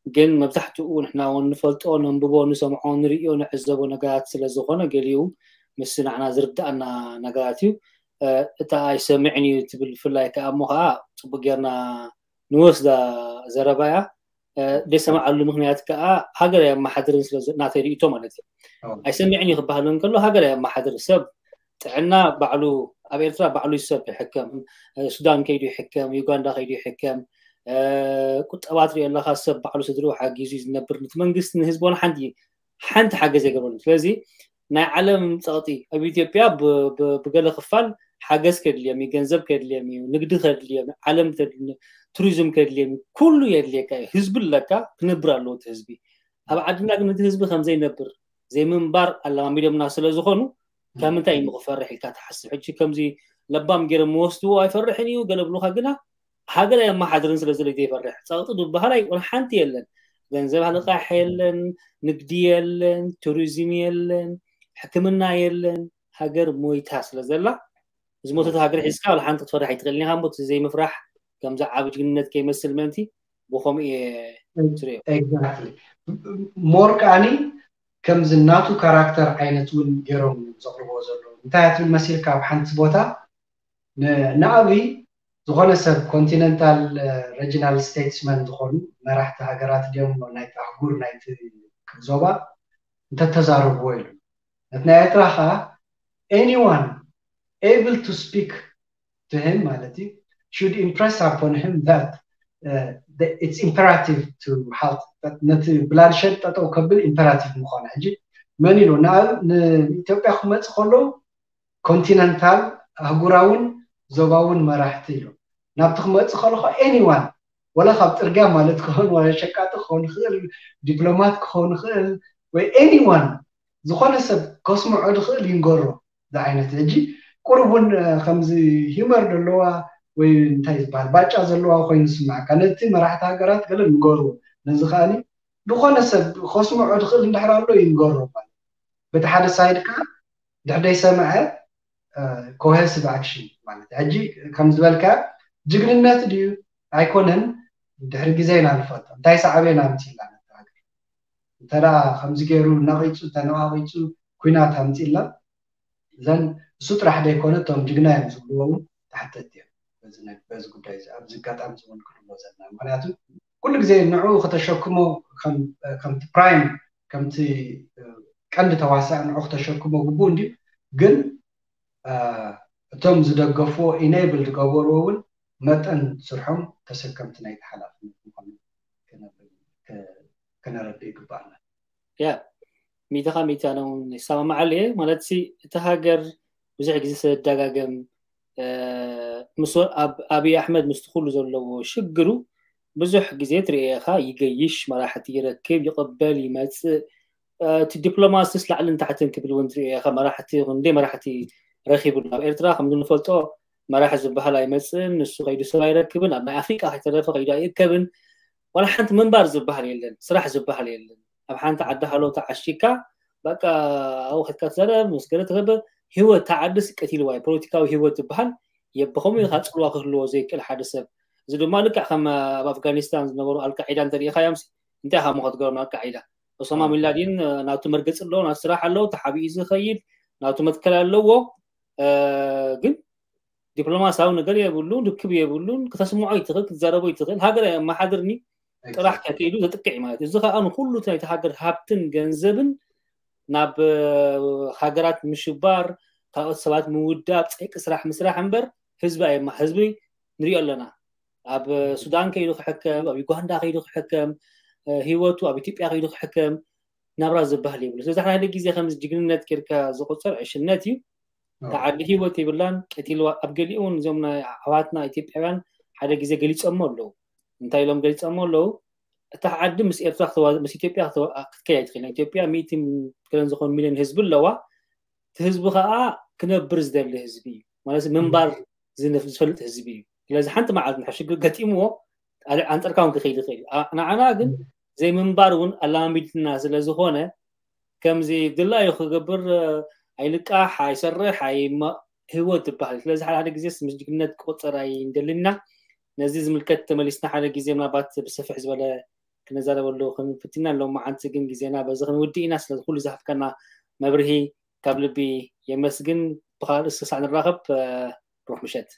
ግን መብዛሕትኡ ንሕና እውን ንፈልጦ፣ ነንብቦ፣ ንሰምዖ፣ ንርእዮ፣ ንዕዘቦ ነገራት ስለ ዝኾነ ገሊኡ ምስ ንዓና ዝርድኣና ነገራት እዩ። እታ ኣይሰምዕን እዩ ትብል ብፍላይ ከዓ እሞ ከዓ ፅቡቅ ጌርና ንወስዳ ዘረባ እያ። ዘይሰምዓሉ ምክንያት ከዓ ሃገር ኣየመሓድርን ስለ ናተይ ርእይቶ ማለት እዩ። ኣይሰምዕን እዩ ክበሃል እንከሎ ሃገር ኣየመሓድር ሰብ ጥዕና ባዕሉ ኣብ ኤርትራ ባዕሉ ሰብ ይሕከም፣ ሱዳን ከይዱ ይሕከም፣ ዩጋንዳ ከይዱ ይሕከም፣ ቁጠባ ትሪኦ ኣለካ ሰብ ባዕሉ ስድርኡ ሓጊዙ እዩ ዝነብር። ነቲ መንግስቲ ንህዝቦን ሓንቲ ሓንቲ ሓገዝ ኣይገበሩን። ስለዚ ናይ ዓለም ፀቕጢ ኣብ ኢትዮጵያ ብገለ ክፋል ሓገዝ ከድልዮም እዩ፣ ገንዘብ ከድልዮም እዩ፣ ንግዲ ከድልዮም፣ ዓለም ቱሪዝም ከድልዮም እዩ፣ ኩሉ የድልየካ እዩ። ህዝቢ ኣለካ፣ ክነብር ኣለዎ እቲ ህዝቢ። ኣብ ዓድና ግን እቲ ህዝቢ ከምዘይነብር ዘይምንባር ኣለማሚዶምና ስለ ዝኾኑ ካብ ምንታይ እዩ ክፈርሕ ኢልካ ትሓስብ? ሕጂ ከምዚ ለባም ገይሮም መወስድዎ ኣይፈርሕን እዩ ገለ ብሉካ ግና ሃገር ኣየመሓድርን ስለ ዝለ ዘይፈርሕ ፀቕጢ ዝበሃል ኣይኮነ ሓንቲ የለን። ገንዘብ ልቃሕ የለን፣ ንግዲ የለን፣ ቱሪዝም የለን፣ ሕክምና የለን። ሃገር ሞይታ ስለ ዘላ ዝሞተት ሃገር ሒዝካ ዋላ ሓንቲ ክትፈርሕ ኣይትኽእልን ኢኻ። እሞ እቲ ዘይምፍራሕ ከምዚ ዓብ ጅግንነት ከይመስል ምእንቲ ብኸምኡ እየ ዝሪኦ። ሞር ከዓኒ ከምዚ ናቱ ካራክተር ዓይነት እውን ገይሮም ዘቕርቦ ዘለዉ እንታይ ትብል መሲልካ ኣብ ሓንቲ ቦታ ንኣብይ ዝኾነ ሰብ ኮንቲነንታል ሬጂናል ስቴትስመን ዝኾኑ መራሕቲ ሃገራት ድዮም ናይቲ ኣህጉር ናይቲ ዞባ እንተተዛረብዎ ኢሉ ነቲ ናይ ኤርትራ ከዓ anyone able to speak to him ማለት እዩ should impress upon him that it's imperative to halt ነቲ ብላድሸድ ጠጠው ከብል ኢምፐራቲቭ ምኾነ። ሕጂ መን ኢሉ ንኢትዮጵያ ክመፅ ከለዉ ኮንቲነንታል ኣህጉራውን ዞባውን መራሕቲ ኢሉ ናብቲ ክመፅ ከለኹ anyone ወላ ካብ ፅርግያ ማለት ክኸውን ወላ ሸቃጢ ክኸውን ይኽእል፣ ዲፕሎማት ክኸውን ይኽእል ወይ anyone ዝኾነ ሰብ ከስምዖ ዝኽእል ይንገሮ ዝዓይነት ሕጂ ቁሩብ እውን ከምዚ ሂመር ዘለዋ ወይ እንታይ ዝበሃል ባጫ ዘለዋ ኮይኑ ዝስምዓካ ነቲ መራሕቲ ሃገራት ገለ ንገርዎ ነዚ ከዓኒ ዝኾነ ሰብ ከስምዖ ዝኽእል እንድሕር ኣሎ ይንገሮ ማለት በቲ ሓደ ሳይድ ከዓ ድሕደይ ሰምዐ ኮሄሲቭ ኣክሽን ማለት ሕጂ ከም ዝበልካ ጅግንነት ድዩ ኣይኮነን ድሕሪ ግዜ ኢና ንፈልጦ እንታይ ሳዕቤን ኣምፅእላ ነቲ ሃገር እንተ ከምዚ ገይሩ ነቂፁ ተነቃቂፁ ኩናት ኣምፅእላ እዘን እሱ ጥራሕ ዘይኮነ እቶም ጅግና እዮም ዝብልዎ እውን ተሓተቲ እዮም በዚ ጉዳይ እዚ። ኣብዚ ኣጋጣሚ እውን ክልዎ ዘለና ምክንያቱ ኩሉ ግዜ ንዑ ከተሸክሞ ከምቲ ፕራይም ከምቲ ቀንዲ ተዋሳእ ንዑ ከተሸክሞ ግቡእ እንድዩ። ግን እቶም ዝደገፍዎ ኢኔብል ዝገበርዎ እውን መጠን ስርሖም ተሰከምቲ ናይቲ ሓላፍነት ምኳኑ ከነረድእ ይግባኣና። ያ ሚእቲ ካብ ሚእቲ ኣነ እውን ይሰማማዓሉ እየ። ማለት ሲ እቲ ሃገር ብዙሕ ግዜ ስለዝደጋገም ምስ ኣብይ ኣሕመድ ምስቲ ኩሉ ዘለዎ ሽግሩ ብዙሕ ግዜ ትርእየኻ ይገይሽ፣ መራሕቲ ይረክብ፣ ይቕበል፣ ይመፅእ። እቲ ዲፕሎማሲስ ላዕልን ታሕትን ክብል እውን ትርእየኻ። መራሕቲ ክንደይ መራሕቲ ረኺቡ ኣሎ ኣብ ኤርትራ። ከምዚ ንፈልጦ መራሒ ዝበሃል ኣይመፅእን፣ ንሱ ከይዱ ሰብ ኣይረክብን፣ ኣብ ናይ ኣፍሪቃ ከይተረፈ ከይዱ ኣይእከብን። ዋላ ሓንቲ ምንባር ዝበሃል የለን፣ ስራሕ ዝበሃል የለን። ኣብ ሓንቲ ዓዲ ሃሎ ተዓሺካ በቃ ኣብኡ ከድካ ትዛረብ ምስ ገለ ትገብር። ህይወት ተዓድስ ቀቲልዋ እዩ። ፖለቲካዊ ህይወት ዝበሃል የብኸምኡ ኢኻ ፅልዋ ክህልዎ ዘይክእል ሓደ ሰብ። እዚ ድማ ልክዕ ከም ኣብ ኣፍጋኒስታን ዝነበሩ ኣልቃዒዳ እንተሪኢኻዮም እንታይ ኢኻ ሞ ክትገብሮም ኣልቃዒዳ? ኦሳማ ቢንላዲን ናቱ መርገፂ ኣለዎ፣ ናቱ ስራሕ ኣለዎ፣ ተሓቢኡ ዝኸይድ ናቱ መትከል ኣለዎ። ግን ዲፕሎማሲያዊ ነገር የብሉን፣ ርክብ የብሉን፣ ክተስምዖ ይትኽእል፣ ክትዛረቦ ይትኽእል። ሃገር ኣየመሓድርኒ ጥራሕ ከይዱ ዘጥቅዕ ማለት እዩ። እዚ ከዓ ንኩሉ ናይቲ ሃገር ሃብትን ገንዘብን ናብ ሃገራት ምሽባር፣ ካልኦት ሰባት ምውዳብ፣ ፀይቂ ስራሕ ምስራሕ እምበር ህዝቢ ኣየማ ህዝቢ ንሪኦ ኣለና። ኣብ ሱዳን ከይዱ ክሕከም፣ ኣብ ዩጋንዳ ከይዱ ክሕከም፣ ህይወቱ ኣብ ኢትዮጵያ ከይዱ ክሕከም ናብራ ዝበሃል የብሉ። ስለዚ ሓደ ግዜ ከምዚ ጅግንነት ጌርካ ዝቁፀር ዕሽነት እዩ። ተዓዲ ህይወት የብላን ቀቲልዋ። ኣብ ገሊኡ እውን እዞም ናይ ኣሕዋትና ኢትዮጵያውያን ሓደ ግዜ ገሊፆሞ ኣለዉ። እንታይ ኢሎም ገሊፆሞ ኣለዉ? እታ ዓዲ ምስ ኤርትራ ምስ ኢትዮጵያ ክትከያ ትኽእል። ኢትዮጵያ ሚእቲ ገለን ዝኾኑ ሚሊዮን ህዝቢ ኣለዋ። እቲ ህዝቢ ከዓ ክነብር ዝደሊ ህዝቢ እዩ። ማለት ምንባር ዝፈልጥ ህዝቢ እዩ። ስለዚ ሓንቲ መዓልቲ ንድሕር ሽግር ገጢምዎ ኣንፀርካ እውን ክኸይድ ይኽእል እዩ። ንዓና ግን ዘይምንባር እውን ኣላማሚድና ስለዝኾነ ከምዚ ድላዩ ክገብር ኣይልቃሕ፣ ኣይሰርሕ፣ ህይወት ትበሃል። ስለዚ ሓደ ሓደ ግዜ ምስ ጅግነት ክቁፀር ኣይንደልን ኢና። ነዚ ዝምልከት ተመሊስና ሓደ ግዜ ምናልባት ብሰፍሕ ዝበለ ክነዛረበሉ ክንፍትን ኢና። ሎማዓንቲ ግን ግዜና በዚ ክንውድእ ኢና። ስለዚ ኩሉ ዝሃብካና መብርሂ ካብ ልቢ የመስግን። ብኻልእ ርእሲ ክሳዕ ንራኸብ ሩሕ ምሸት።